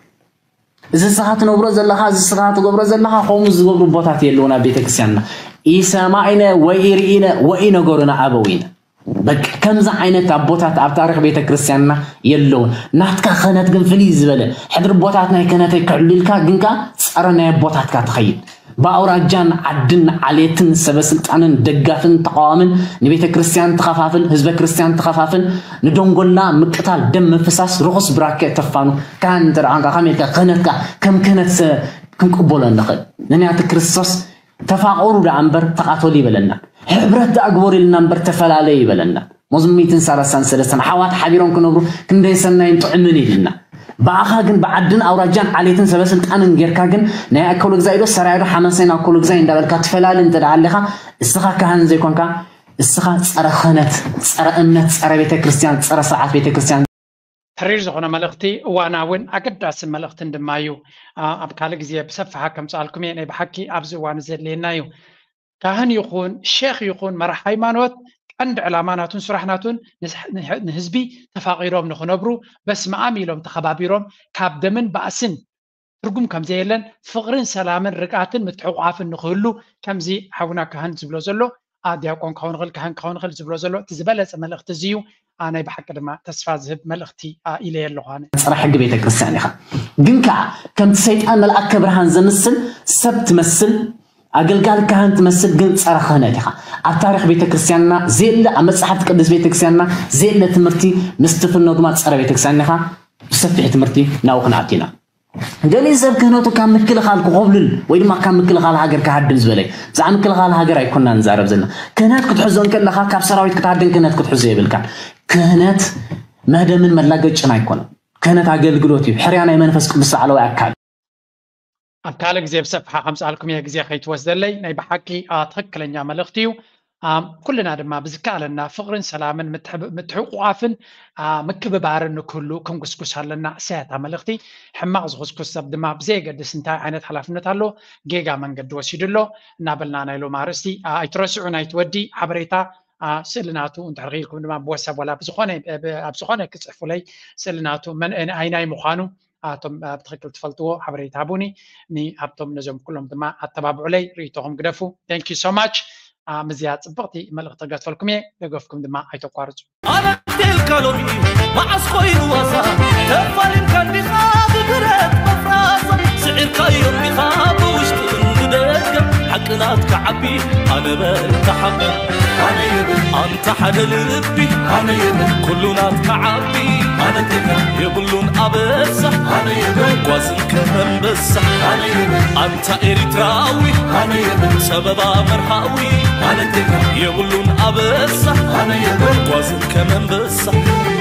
እዚ ስኻ ትነብሮ ዘለኻ እዚ ስኻ ትገብሮ ዘለኻ ከምኡ ዝገብሩ ኣቦታት የለውን ኣብ ቤተክርስትያንና ኢሰማዒነ ወኢርኢነ ወኢነገሩና ኣበዊነ። በቃ ከምዚ ዓይነት ኣቦታት ኣብ ታሪኽ ቤተ ክርስቲያንና የለውን። ናትካ ክህነት ግን ፍልይ ዝበለ፣ ሕድሪ ኣቦታት ናይ ክህነተይ ክዕሉ ኢልካ ግንካ ጸረ ናይ ኣቦታትካ ትኸይድ። ብኣውራጃን ዓድን ዓሌትን ሰበ ስልጣንን ደጋፍን ተቃዋምን ንቤተ ክርስቲያን ትኸፋፍል፣ ህዝበ ክርስቲያን ትኸፋፍል፣ ንደንጎላ ምቅታል፣ ደም ምፍሳስ፣ ርኹስ ብራከ ተፋኑ። ካህን እንተ ደኣ ኳንካ ከመይ ኢልካ ክህነትካ ከም ክህነት ሰ-፣ ክንቅበሎ ንኽእል? ንንያት ክርስቶስ ተፋቐሩ ደኣ እምበር ተቓተሉ ይበለና። ሕብረት ደኣ ግበሩ ኢልና እምበር ተፈላለዩ ይበለና። መዝሙር ሚእትን ሰላሳን ሰለስተን ኣሕዋት ሓቢሮም ክነብሩ ክንደይ ሰናይን ጥዑምን ኢልና። ብኣኻ ግን ብዓድን ኣውራጃን ዓሌትን ሰበ ስልጣንን ጌርካ ግን ናይ ኣከሉ ግዛይ ዶ ሰራይ ዶ ሓመሰን ኣከሉ ግዛይ እንዳበልካ ትፈላሊ እንተ ደኣ ኣለኻ፣ እስኻ ካህን ዘይኮንካ፣ እስኻ ጸረ ክህነት፣ ጸረ እምነት፣ ጸረ ቤተ ክርስቲያን፣ ጸረ ስርዓት ቤተ ክርስቲያን። ተሪር ዝኾነ መልእኽቲ፣ እዋናውን ኣገዳሲ መልእኽትን ድማ እዩ። ኣ-፣ ኣብ ካልእ ግዜ ብሰፍሓ ከምጽኣልኩም እየ። ናይ ብሓቂ ኣብዚ እዋን ዘድልየና እዩ። ካህን ይኹን ሼኽ ይኹን መራሕ ሃይማኖት ቀንዲ ዕላማ ናቱን ስራሕ ናቱን ንስ-፣ ንህ-፣ ንህዝቢ ተፋቒሮም ንኽነብሩ በስመ ኣም ኢሎም ተኸባቢሮም ካብ ደምን ባእስን ትርጉም ከም ዘየለን ፍቕርን ሰላምን ርግኣትን ምትሕቑቓፍን ንኽህሉ ከምዚ ሓውና ካህን ዝብሎ ዘሎ፣ ኣ፣ ዲያቆን ክኸውን ይኽእል፣ ካህን ክኸውን ይኽእል ዝብሎ ዘሎ እቲ ዝበለጸ መልእኽቲ እዚ እዩ። ኣ፣ ናይ ብሓቂ ድማ ተስፋ ዝህብ መልእኽቲ፣ ኣ፣ ኢለየ ኣለኹ ኣነ። ጸረ ሕጊ ቤተ ክርስቲያን ኢኻ። ግን ከኣ ከምቲ ሰይጣን መልኣከ ብርሃን ዘምስል ሰብ ትመስል፣ ኣገልጋሊ ካህን ትመስል፣ ግን ጸረ ክህነት ኢኻ። ኣብ ታሪኽ ቤተ ክርስቲያንና ዘየለ፣ ኣብ መጽሓፍቲ ቅዱስ ቤተ ክርስቲያንና ዘየለ ትምህርቲ ምስ ትፍኖ ድማ ጸረ ቤተ ክርስቲያን ኢኻ። ብሰፊሕ ትምህርቲ ናብኡ ክንኣቱ ኢና። ገሊኡ ሰብ ክህነቱ ካብ ምክልኻል ክኾብልል ወይ ድማ ካብ ምክልኻል ሃገር ክሃድም ዝበለ። ብዛዕባ ምክልኻል ሃገር ኣይኮንና ንዛረብ ዘለና። ክህነት ክትሕዞ እንከለኻ ካብ ሰራዊት ክትሃድም ክህነት ክትሕዞ የብልካን። ክህነት መህደምን መላገጭን ኣይኮነን። ክህነት ኣገልግሎት እዩ። ሕርያ ናይ መንፈስ ቅዱስ ላዕለዋይ ኣካል። ኣብ ካልእ ግዜ ብሰፍሓ ከምጽኣልኩም እየ፣ ግዜ ከይትወስደለይ። ናይ ብሓቂ፣ ኣ፣ ትኽክለኛ መልእኽቲ እዩ። ኣ፣ ኩልና ድማ ብዝከኣለና ፍቕርን ሰላምን ምትሕብ-፣ ምትሕቑቓፍን፣ ኣ፣ ምክብባርን ንክህሉ ክንጉስጉስ ኣለና። እሳያ እታ መልእኽቲ። ሕማቕ ዝኹስኩስ ሰብ ድማ ብዘየገድስ እንታይ ዓይነት ሓላፍነት ኣሎ፣ ጌጋ መንገዲ ወሲዱ ኣሎ እናበልና ናይ ሎም ኣርእስቲ፣ ኣ፣ ኣይትረስዑ። ናይቲ ወዲ ሓበሬታ፣ ኣ፣ ስእሊ ናቱ እንድሕር ክኢልኩም ድማ ብወሳብ ዋላ ብዝኾነ፣ ብ-፣ ኣብ ዝኾነ ክጽሕፉለይ ስእሊ ናቱ መን፣ ኣይናይ ምዃኑ ኣቶም ብትኽክል ትፈልጥዎ ሓበሬታ ሃቡኒ። ንሃብቶም ነዞም ኩሎም ድማ ኣተባብዑለይ፣ ርእይቶኹም ግደፉ። Thank you so much። ኣ፣ ምዝያ ጽብቕቲ መልእኽቲ ክገድፈልኩም እየ፣ ደገፍኩም ድማ ኣይተቋርጹ። ኣነቴልካ ሎሚ መዓስ ኮይኑ ዋዛ፣ ተፋሊምካ እንዲኻ ብብረት መፍራሳ፣ ስዒርካዮ እንዲኻ ብውሽጥን ብደገ፣ ሓቂ ናትካ ዓቢ ኣነ በልካ ሓቂ። ኣንታ ሓደ ልቢ ኣነ የብል፣ ኩሉ ናትካ ዓቢ ኣነ ቴጋ፣ የብሉን ኣበሳ ኣነ የብል፣ ጓዝን ከመንበሳ ኣነ የብል፣ ኣንታ ኤሪትራዊ ኣነ የብል፣ ጸበባ መርሃዊ ኣነ ቴጋ፣ የብሉን ኣበሳ ኣነ የብል፣ ጓዝን ከመንበሳ።